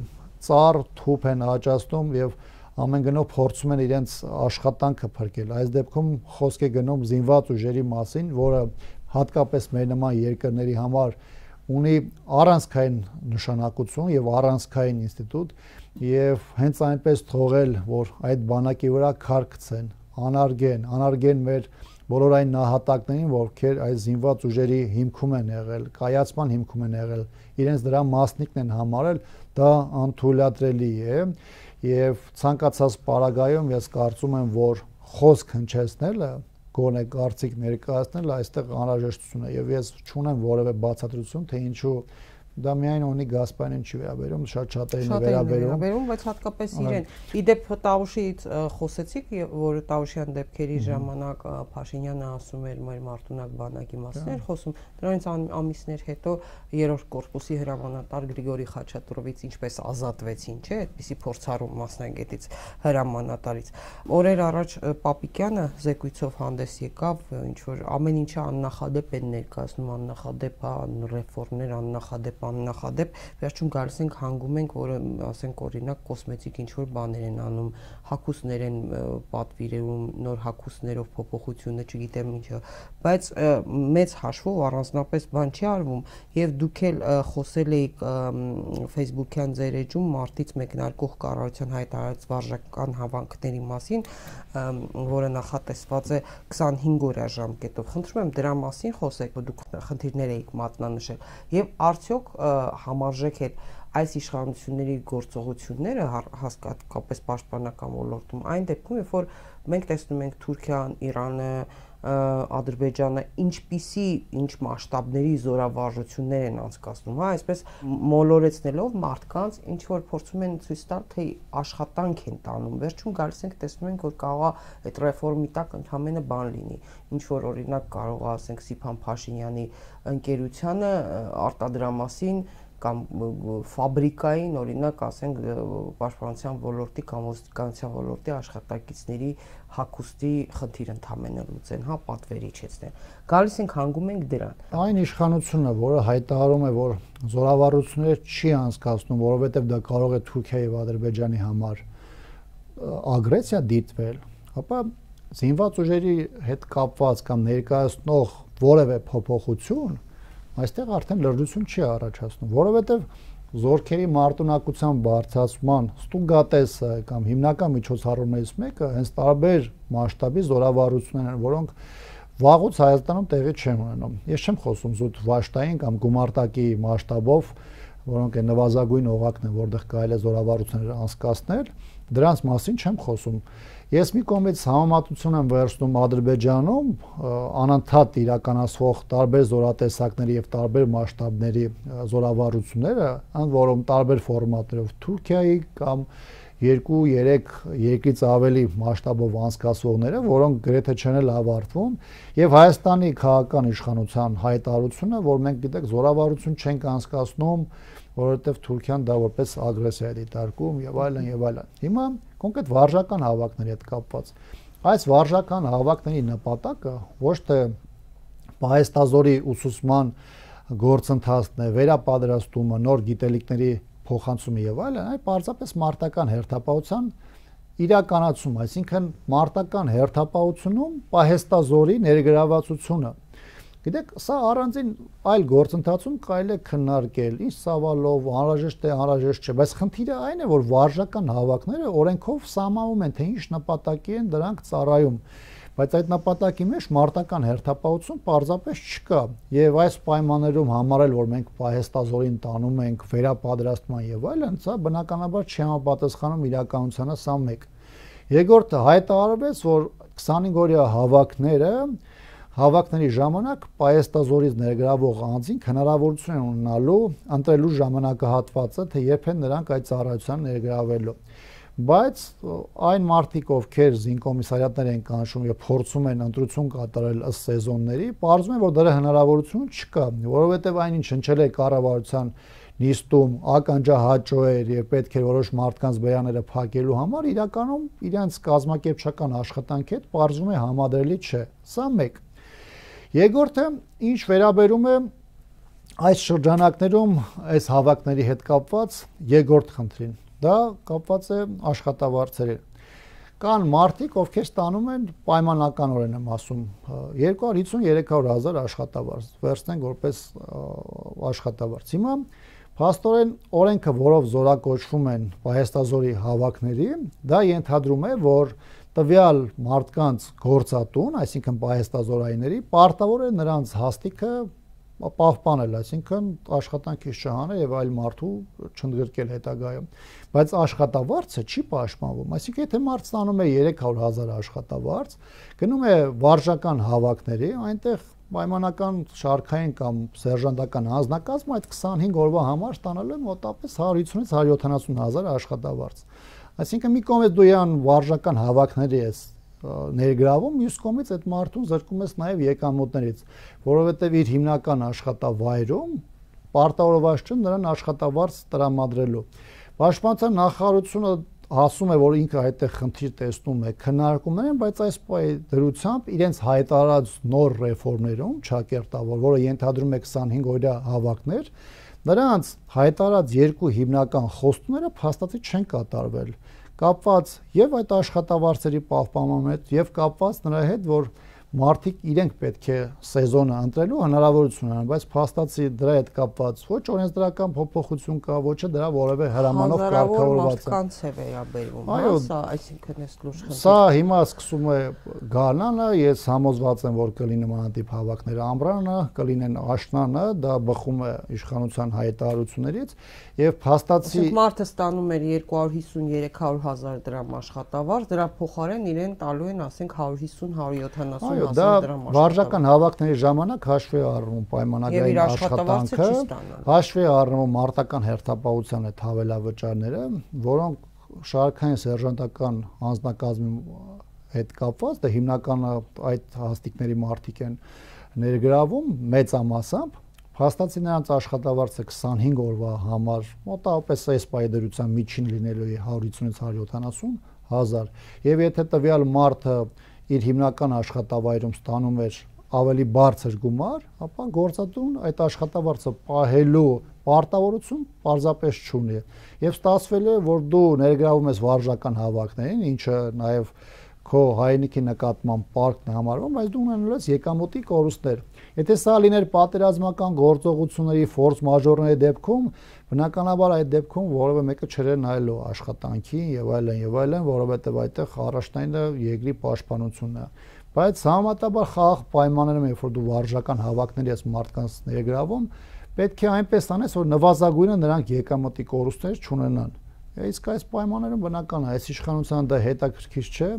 ծառ, թուփ են աճացնում եւ ամեն գնով փորձում են իրենց աշխատանքը փրկել։ Այս դեպքում խոսք է գնում զինված ուժերի մասին, որը հատկապես մեր նման երկրների համար ունի առանցքային նշանակություն եւ առանցքային ինստիտուտ եւ հենց այնպես թողել, որ այդ բանակի վրա քար գցեն, անարգեն, անարգեն մեր բոլոր այն նահատակներին, ովքեր այս զինված ուժերի հիմքում են եղել, կայացման հիմքում են եղել, իրենց դրա մասնիկն են համարել, դա անթույլատրելի է եւ ցանկացած պարագայում ես կարծում եմ, որ խոսք հնչեցնելը գոնե կարծիք ներկայացնել այստեղ անհրաժեշտություն է եւ ես չունեմ որևէ բացատրություն, թե ինչու դա միայն Օնիկ Գասպարյանին չի վերաբերում, շատ շատերին է վերաբերում, բայց հատկապես իրեն։ Իդեպ Տավուշից խոսեցիք, որ Տավուշյան դեպքերի ժամանակ Փաշինյանը ասում էր մեր մարտունակ բանակի մասին էր խոսում, դրանից ամիսներ հետո երրորդ կորպուսի հրամանատար Գրիգորի Խաչատուրովից ինչպես ազատվեցին, չէ՞, այդպիսի փորձառու մասնագետից հրամանատարից։ Օրեր առաջ Պապիկյանը զեկույցով հանդես եկավ, ինչ որ ամեն ինչը աննախադեպ են ներկայացնում, աննախադեպ ռեֆորմներ, աննախադեպ աննախադեպ, վերջում գալիս ենք հանգում ենք, որը ասենք օրինակ կոսմետիկ ինչ որ բաներ են անում, հագուստներ են պատվիրում, նոր հագուստներով փոփոխությունը, չգիտեմ ինչը, բայց մեծ հաշվով առանձնապես բան չի արվում եւ դուք էլ խոսել եք Facebook-յան ձեր էջում մարտից մեկնարկող կառավարության հայտարարած վարժական հավանքների մասին, որը նախատեսված է քսանհինգ օրյա ժամկետով։ Խնդրում եմ դրա մասին խոսեք, որ դուք խնդիրներ եք մատնանշել եւ արդյոք համարժեք է այս իշխանությունների գործողությունները հատկապես պաշտպանական ոլորտում այն դեպքում, երբ որ մենք տեսնում ենք Թուրքիան, Իրանը, Ադրբեջանը ինչպիսի ինչ մասշտաբների զորավարժություններ են անցկացնում, հա, այսպես մոլորեցնելով մարդկանց ինչ որ փորձում են ցույց տալ, թե աշխատանք են տանում, վերջում գալիս ենք տեսնում ենք, որ կարող է այդ ռեֆորմի տակ ընդհանրապես բան լինի, ինչ որ օրինակ կարող է ասենք Սիփան Փաշինյանի ընկերությանը արտադրամասին կամ ֆաբրիկային օրինակ ասենք պաշտպանության ոլորտի կամ ոստիկանության ոլորտի աշխատակիցների հագուստի խնդիր ընդհանրապես լուծեն, հա, պատվեր իջեցնեն։ Գալիս ենք հանգում ենք դրան։ Այն իշխանությունը, որը հայտարարում է, որ զորավարությունները չի անցկացնում, որովհետև դա կարող է Թուրքիայի եւ Ադրբեջանի համար ագրեսիա դիտվել, ապա զինված ուժերի հետ կապված կամ ներկայացնող որևէ փոփոխություն այստեղ արդեն լրջություն չի առաջացնում, որովհետև զորքերի մարտունակության բարձրացման ստուգատեսը կամ հիմնական միջոցառումներից մեկը հենց տարբեր մասշտաբի զորավարություններ են, որոնք վաղուց Հայաստանում տեղի չեն ունենում։ Ես չեմ խոսում զուտ վաշտային կամ գումարտակի մասշտաբով որոնք են նվազագույն օղակն են, որտեղ կարելի է զորավարություններ անցկացնել, դրանց մասին չեմ խոսում։ Ես մի կողմից համեմատություն եմ վերցնում Ադրբեջանում անընդհատ իրականացվող տարբեր զորատեսակների եւ տարբեր մասշտաբների զորավարությունները, ընդ որում տարբեր ֆորմատներով Թուրքիայի կամ երկու երեք երկրից ավելի մասշտաբով անցկացվողները, որոնք գրեթե չեն էլ ավարտվում, եւ Հայաստանի քաղաքական իշխանության հայտարարությունը, որ մենք գիտեք զորավարություն չենք անցկացնում, որովհետեւ Թուրքիան դա որպես ագրեսիա է դիտարկում եւ այլն եւ այլն։ Հիմա կոնկրետ վարժական հավաքների հետ կապված այս վարժական հավաքների նպատակը ոչ թե պահեստազորի ուսուցման գործընթացն է, վերապատրաստումը, նոր գիտելիքների փոխանցումը եւ այլն, այլ պարզապես մարտական հերթապահության իրականացում, այսինքն մարտական հերթապահությունում պահեստազորի ներգրավվածությունը։ Գիտեք, սա առանձին այլ գործընթացում կարելի է քննարկել, ինչ ծավալով, անհրաժեշտ է, անհրաժեշտ չէ, բայց խնդիրը այն է, որ վարժական հավաքները օրենքով սահմանվում են, թե ինչ նպատակի են դրանք ծառայում, բայց այդ նպատակի մեջ մարտական հերթապահություն պարզապես չկա, եւ այս պայմաններում համարել, որ մենք պահեստազորին տանում ենք վերապատրաստման եւ այլն, սա բնականաբար չի համապատասխանում իրականությանը, սա մեկ։ Երկրորդը հայտարարվեց, որ քսանհինգ օրյա հավաքները Հավաքների ժամանակ պահեստազորից ներգրավող անձին հնարավորություն են ունենալու ընտրելու ժամանակահատվածը, թե երբ են նրանք այդ ծառայության ներգրավելու։ Բայց այն մարդիկ, ովքեր զինկոմիսարիատներ են կանչում եւ փորձում են ընտրություն կատարել ըստ սեզոնների, պարզվում է, որ դրա հնարավորություն չկա, որովհետեւ այնինչ հնչել է կառավարության նիստում ականջահաճո էր եւ պետք է որոշ մարդկանց բերաները փակելու համար իրականում իրենց կազմակերպչական աշխատանքի հետ պարզվում է համադրելի չէ։ Սա մեկ։ Երկրորդը, ինչ վերաբերում է այս շրջանակներում այս հավաքների հետ կապված երկրորդ խնդրին, դա կապված է աշխատավարձերին։ Կան մարդիկ, ովքեր ստանում են պայմանականորեն եմ ասում երկու հարյուր հիսուն երեք հարյուր հազար աշխատավարձ, վերցնենք որպես աշխատավարձ։ Հիմա փաստորեն օրենքը, որով զորակոչվում են պահեստազորի հավաքների, դա ենթադրում է, որ տվյալ մարդկանց գործատուն, այսինքն պահեստազորայինների, պարտավոր է նրանց հաստիքը պահպանել, այսինքն աշխատանքից չհանել եւ այլ մարդու չընդգրկել հետագայում։ Բայց աշխատավարձը չի պաշտպանվում, այսինքն եթե մարդ ստանում է երեք հարյուր հազար աշխատավարձ, գնում է վարժական հավաքների, այնտեղ պայմանական շարքային կամ սերժանտական անձնակազմը այդ քսանհինգ օրվա համար ստանալու է մոտավորապես հարյուր հիսունից հարյուր յոթանասուն հազար աշխատավարձ։ Այսինքն մի կողմից դու յան վարժական հավաքների ես ներգրավում, մյուս կողմից այդ մարդուն զրկում ես նաև եկամուտներից, որովհետև իր հիմնական աշխատավայրում պարտավորված չէ նրան աշխատավարձ տրամադրելու։ Պաշտպանության նախարարությունը ասում է, որ ինքը այդտեղ խնդիր տեսնում է, քննարկումներ են, բայց այս դրությամբ իրենց հայտարարած նոր ռեֆորմներում ճակերտավոր, որը ենթադրում է քսանհինգ օրյա հավաքներ, նրանց հայտարարած երկու հիմնական խոստումները փաստացի չեն կատարվել, կապված եւ այդ աշխատավարձերի պահպանման հետ եւ կապված նրա հետ, որ մարդիկ իրենք պետք է սեզոնը ընտրելու հնարավորություն ունենան, բայց փաստացի դրա հետ կապված ոչ օրենսդրական փոփոխություն կա, ոչ է դրա որևէ հրամանով կարգավորված է։ Կանց է վերաբերվում, այո, սա, այսինքն էս լուրջ խնդիր։ Սա հիմա սկսում է գարնանը, ես համոզված եմ, որ կլինի նմանատիպ հավաքները ամռանը, կլինեն աշնանը, դա բխում է իշխանության հայտարարություններից եւ փաստացի մարդը ստանում էր երկու հարյուր հիսուն երեք հարյուր հազար դրամ աշխատավարձ, դրա փոխարեն իրեն տալու են, ասենք հարյուր հիսուն հարյուր յոթանասուն դա վարժական հավաքների ժամանակ հաշվի առնում պայմանագրային աշխատանքը, հաշվի առնում մարտական հերթապահության այդ հավելավճարները, որոնք շարքային սերժանտական անձնակազմի հետ կապված, դա հիմնականը այդ հաստիկների մարդիկ են ներգրավում մեծամասամբ, փաստացի նրանց աշխատավարձը քսանհինգ օրվա համար մոտավորապես այս պայդրության միջին լինելու է հարյուր հիսունից հարյուր յոթանասուն հազար, եւ եթե տվյալ մարդը իր հիմնական աշխատավայրում ստանում էր ավելի բարձր գումար, ապա գործատուն այդ աշխատավարձը պահելու պարտավորություն պարզապես չունի։ Եվ ստացվել է, որ դու ներգրավում ես վարժական հավաքներին, ինչը նաև քո հայրենիքի նկատմամբ պարտքն է համարվում, բայց դու ունենալու ես եկամուտի կորուստներ։ Եթե սա լիներ պատերազմական գործողությունների ֆորս մաժորների դեպքում, բնականաբար այդ դեպքում որևէ մեկը չէր նայելու աշխատանքին եւ այլն եւ այլն, որովհետեւ այդտեղ առաջնայինը երկրի պաշտպանությունն է։ Բայց համատաբար խաղաղ պայմաններում, երբ որ դու վարժական հավաքների ես մարդկանց ներգրավում, պետք է այնպես անես, որ նվազագույնը նրանք եկամտի կորուստներ չունենան։ Իսկ այս պայմաններում բնական է, այս իշխանության դա հետաքրքիր չէ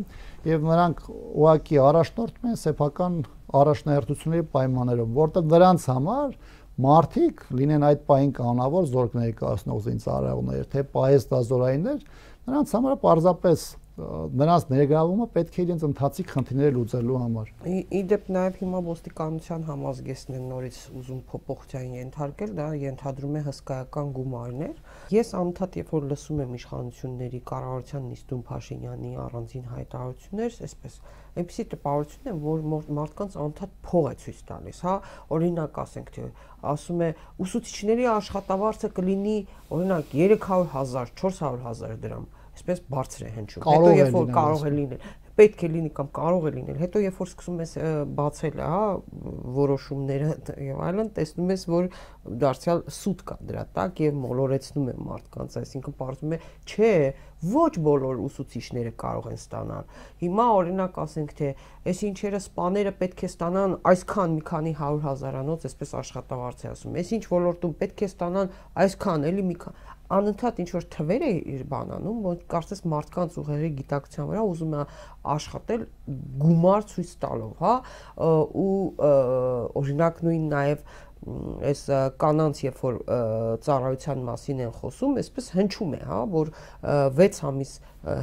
եւ նրանք ուղղակի առաջնորդում են սեփական առաջնահերթությունների պայմաններում, որտեղ նրանց համար մարդիկ լինեն այդ պահին կանավոր զորք ներկայացնող զինծառայողներ, թե պահեստազորայիններ, նրանց համար պարզապես նրանց ներգրավումը պետք է իրենց ընթացիկ խնդիրները լուծելու համար։ Իդեպ նաև հիմա ոստիկանության համազգեստն են նորից ուզում փոփոխության ենթարկել, դա ենթադրում է հսկայական գումարներ։ Ես անընդհատ երբ որ լսում եմ իշխանությունների կառավարության նիստում Փաշինյանի առանձին հայտարարություններ, այսպես այնպեսի տպավորություն է, որ մարդկանց անընդհատ փող է ցույց տալիս, հա, օրինակ ասենք թե ասում է ուսուցիչների աշխատավարձը կլինի օրինակ երեք հարյուր հազար, չորս հարյուր հազար դրամ, այսպես բարձր է հնչում։ Հետո երբ որ կարող է լինել, պետք է լինի կամ կարող է լինել, հետո երբ որ սկսում ես բացել, հա, որոշումները եւ այլն, տեսնում ես, որ դարձյալ սուտ կա դրա տակ եւ մոլորեցնում է մարդկանց, այսինքն պարզվում է, չէ, ոչ բոլոր ուսուցիչները կարող են ստանալ։ Հիմա օրինակ ասենք թե այս ինչերը սպաները պետք է ստանան այսքան մի քանի հարյուր հազարանոց, այսպես աշխատավարձ է ասում։ Այս ինչ ոլորտում պետք է ստանան այսքան, էլի մի քան անընդհատ ինչ որ թվեր է իր բանանում, որ կարծես մարդկանց ուղեղի գիտակցության վրա ուզում է աշխատել գումար ցույց տալով, հա, ու օրինակ նույն նաև այս կանանց երբ որ ծառայության մասին են խոսում, այսպես հնչում է, հա, որ վեց ամիս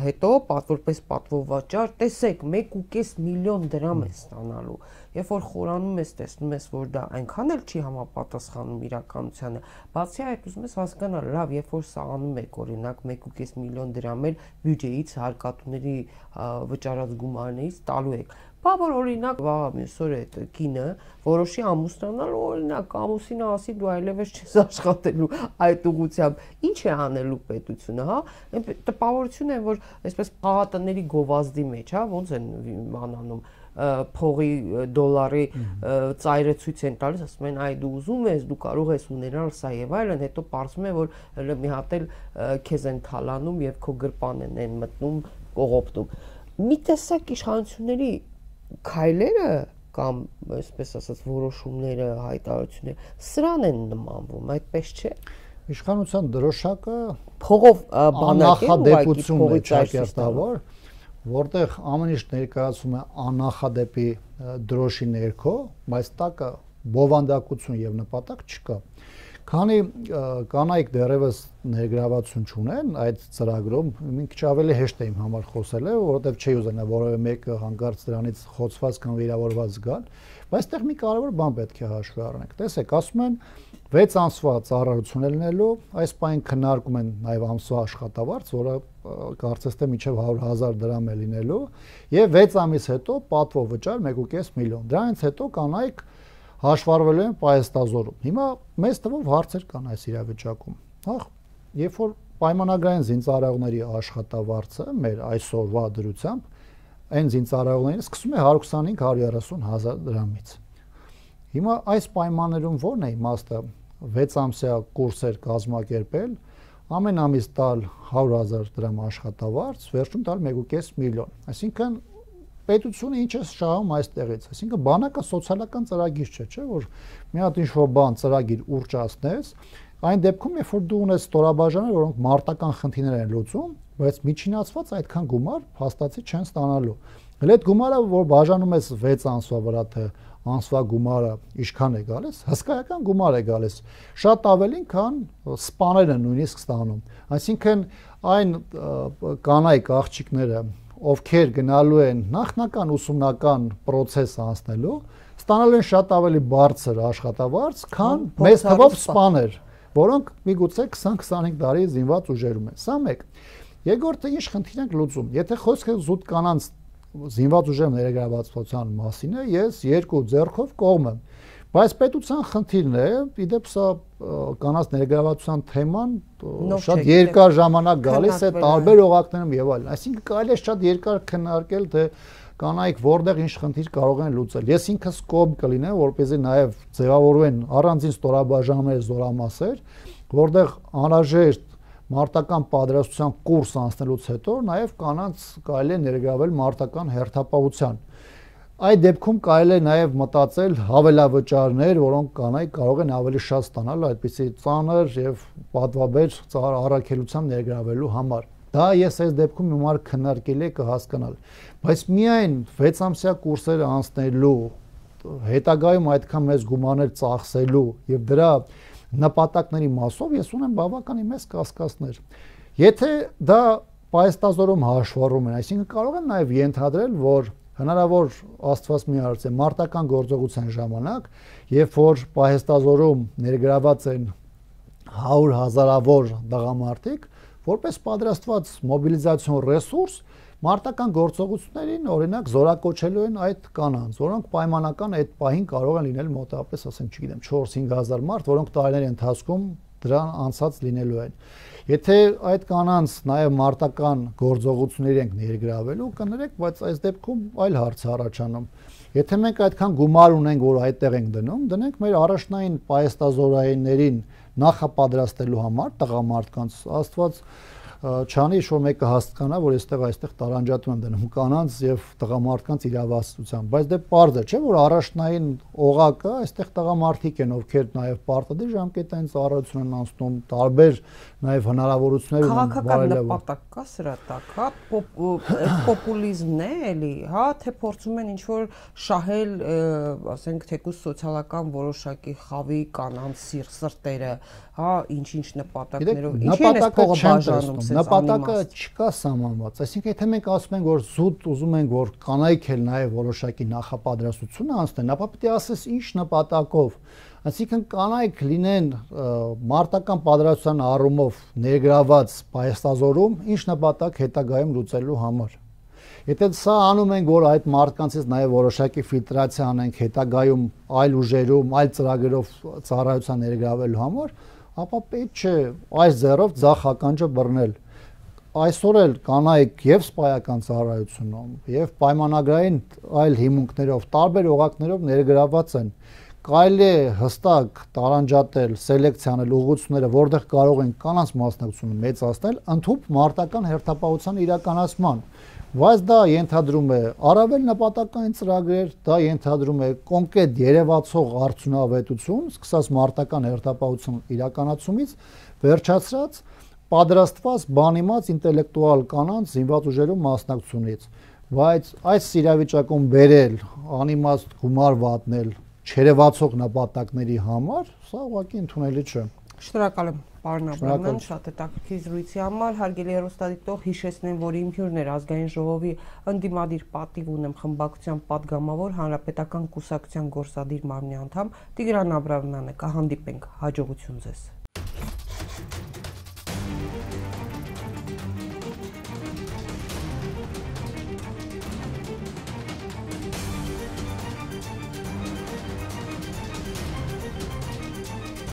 հետո որպես պատվովաճառ, տեսեք, մեկ ու կես միլիոն դրամ է ստանալու։ Երբ որ խորանում ես, տեսնում ես, որ դա այնքան էլ չի համապատասխանում իրականությանը, բացի այդ ուզում ես հասկանալ, լավ, երբ որ սա անում եք, օրինակ մեկ ու կես միլիոն դրամ էլ բյուջեից հարկատուների վճարած գումարներից տալու եք։ Բա որ օրինակ վաղամյուսօր այդ կինը որոշի ամուսնանալ, օրինակ ամուսինը ասի դու այլևս չես աշխատելու այդ ուղղությամբ, ինչ է անելու պետությունը, հա, տպավորություն է, որ այսպես պաղատների գովազդի մեջ, հա, ոնց են անանում փողի դոլարի ծայրը ցույց են տալիս, ասում են այ դու ուզում ես, դու կարող ես ունենալ սա եւ այլն, հետո պարզվում է, որ մի հատ էլ քեզ են թալանում եւ քո գրպանն են մտնում կողոպտում։ Մի տեսակ իշխանությունների քայլերը կամ այսպես ասած որոշումները, հայտարարությունները սրան են նմանվում, այդպես չէ։ Իշխանության դրոշակը փողով բանակ է, նախադեպություն է ճակերտավոր, որտեղ ամեն ինչ ներկայացում է աննախադեպի դրոշի ներքո, բայց տակը բովանդակություն եւ նպատակ չկա։ Քանի կանայք դեռևս ներգրավություն չունեն այդ ծրագրում, մի քիչ ավելի հեշտ է իմ համար խոսելը, որովհետև չի ուզենա որևէ մեկը հանկարծ դրանից խոցված կամ վիրավորված գալ, բայց այդտեղ մի կարևոր բան պետք է հաշվի առնենք։ Տեսեք, ասում են վեց ամսվա ծառայություն է լինելու, այս պահին քննարկում են նաև ամսվա աշխատավարձ, որը կարծես թե մինչև հարյուր հազար դրամ է լինելու, եւ վեց ամիս հետո պատվո վճար մեկ ու կես միլիոն։ Դրանից հետո կանայք հաշվառվելու են պահեստազորում։ Հիմա մեծ թվով հարցեր կան այս իրավիճակում։ Հա, երբ որ պայմանագրային զինծառայողների աշխատավարձը մեր այսօրվա դրությամբ այն զինծառայողներին սկսում է հարյուր քսանհինգ հարյուր երեսուն հազար դրամից։ Հիմա այս պայմաններում ո՞րն է իմաստը վեց ամսյա կուրսեր կազմակերպել, ամեն ամիս տալ հարյուր հազար դրամ աշխատավարձ, վերջում տալ մեկ ու կես միլիոն։ Այսինքն պետությունը ինչ է շահում այստեղից, այսինքն բանակը սոցիալական ծրագիր չէ, չէ, որ մի հատ ինչ-որ բան ծրագիր ուռճացնես, այն դեպքում, երբ որ դու ունես ստորաբաժաններ, որոնք մարտական խնդիրներ են լուծում, բայց միջինացված այդքան գումար փաստացի չեն ստանալու։ Հələ այդ գումարը, որ բաժանում ես վեց ամսվա վրա, թե ամսվա գումարը ինչքան է գալիս, հսկայական գումար է գալիս, շատ ավելին, քան սպաները նույնիսկ ստանում։ Այսինքն այն կանայք աղջիկները, ովքեր գնալու են նախնական ուսումնական process անցնելու, ստանալու են շատ ավելի բարձր աշխատավարձ, քան մեծ թվով սպաներ, որոնք միգուցե քսան քսանհինգ տարի զինված ուժերում են։ Սա մեկ։ Երկրորդը ինչ խնդիր ենք լուծում։ Եթե խոսքը զուտ կանանց զինված ուժերում ներգրավվածության մասին է, ես երկու ձեռքով կողմ եմ։ Բայց պետության խնդիրն է, իդեպ սա կանանց ներգրավվածության թեման շատ երկար ժամանակ գալիս է տարբեր օղակներում եւ այլն։ Այսինքն կարելի է շատ երկար քննարկել, թե կանայք որտեղ ինչ խնդիր կարող են լուծել։ Ես ինքս կողմ կլինեմ, որպեսզի նաեւ ձևավորվեն առանձին ստորաբաժանումներ, զորամասեր, որտեղ անհրաժեշտ մարտական պատրաստության կուրս անցնելուց հետո նաեւ կանանց կարելի է ներգրավել մարտական հերթապահության։ Այդ դեպքում կարելի է նաև մտածել հավելավճարներ, որոնք կանայք կարող են ավելի շատ ստանալ այդպիսի ծանր եւ պատվաբեր առաքելությամբ ներգրավելու համար։ Դա ես այս դեպքում հիմար քննարկել եմ կհասկանալ, բայց միայն վեց ամսյա կուրսերը անցնելու, հետագայում այդքան մեծ գումարներ ծախսելու եւ դրա նպատակների մասով ես ունեմ բավականին մեծ կասկածներ։ Եթե դա պայստազորում հաշվառում են, այսինքն կարող են նաև ենթադրել, որ հնարավոր Աստված մի արած է մարտական գործողության ժամանակ, երբ որ պահեստազորում ներգրաված են հարյուր հազարավոր տղամարդիկ, որպես պատրաստված մոբիլիզացիոն ռեսուրս, մարտական գործողություններին օրինակ զորակոչելու են այդ կանանց, որոնք պայմանական այդ պահին կարող են լինել մոտավորապես, ասենք, չգիտեմ, չորս-հինգ հազար մարդ, որոնք տարիների ընթացքում դրան անցած լինելու են։ Եթե այդ կանանց նաև մարտական գործողություններ ենք ներգրավելու, կներեք, բայց այս դեպքում այլ հարց է առաջանում։ Եթե մենք այդքան գումար ունենք, որ այդտեղ ենք դնում, դնենք մեր առաջնային պայեստազորայիններին նախապատրաստելու համար տղամարդկանց, Աստված չանի, որ մեկը հասկանա, որ այստեղ այստեղ տարանջատում են դնում կանանց եւ տղամարդկանց իրավասության, բայց դե պարզ է, չէ՞ որ առաջնային օղակը այստեղ տղամարդիկ են, ովքեր նաեւ պարտադիր ժամկետային ծառայություն են անցնում, տարբեր նաեւ հնարավորություններ ունեն քաղաքական նպատակ կա սրա տակ, հա, պոպուլիզմն է էլի, հա, թե փորձում են ինչ որ շահել, ասենք, թեկուզ սոցիալական որոշակի խավի կանանց սիրտերը, հա, ինչ-ինչ նպատակներով, ինչի են այս փողը բաժանում։ Նպատակը չկա սահմանված, այսինքն եթե մենք ասում ենք, որ զուտ ուզում ենք, որ կանայք էլ նաև որոշակի նախապատրաստություն անցնեն, ապա պետք է ասես ինչ նպատակով, այսինքն կանայք լինեն մարտական պատրաստության առումով ներգրաված պայեստազորում, ինչ նպատակ հետագայում լուծելու համար։ Եթե սա անում ենք, որ այդ մարդկանցից նաև որոշակի ֆիլտրացիա անենք հետագայում այլ ուժերում, այլ ծրագրերով ծառայության ներգրավելու համար, ապա պետք չէ այս ձեռով ձախ ականջը բռնել։ Այսօր էլ կանայք եւ սպայական ծառայությունում եւ պայմանագրային այլ հիմունքներով, տարբեր օղակներով ներգրաված են։ Կարելի է հստակ տարանջատել, սելեկցիանել ուղղությունները, որտեղ կարող են կանանց մասնակցությունը մեծացնել, ընդհանուր մարտական հերթապահության իրականացման։ Բայց դա ենթադրում է առավել նպատակային ծրագրեր, դա ենթադրում է կոնկրետ երևացող արդյունավետություն, սկսած մարտական հերթապահություն իրականացումից, վերջացրած պատրաստված բանիմաց ինտելեկտուալ կանանց զինված ուժերում մասնակցությունից։ Բայց այս իրավիճակում բերել, անիմաստ գումար վատնել, չերևացող նպատակների համար, սա ուղղակի ընդունելի չէ։ Շնորհակալ եմ, պարոն Աբրամյան, շատ հետաքրքիր զրույցի համար, հարգելի հեռուստադիտող, հիշեցնեմ, որ իմ հյուրն էր Ազգային ժողովի ընդդիմադիր պատիվ ունեմ խմբակցության պատգամավոր, Հանրապետական կուսակցության գործադիր մարմնի անդամ Տիգրան Աբրամյանը, կհանդիպենք, հաջողություն ձեզ։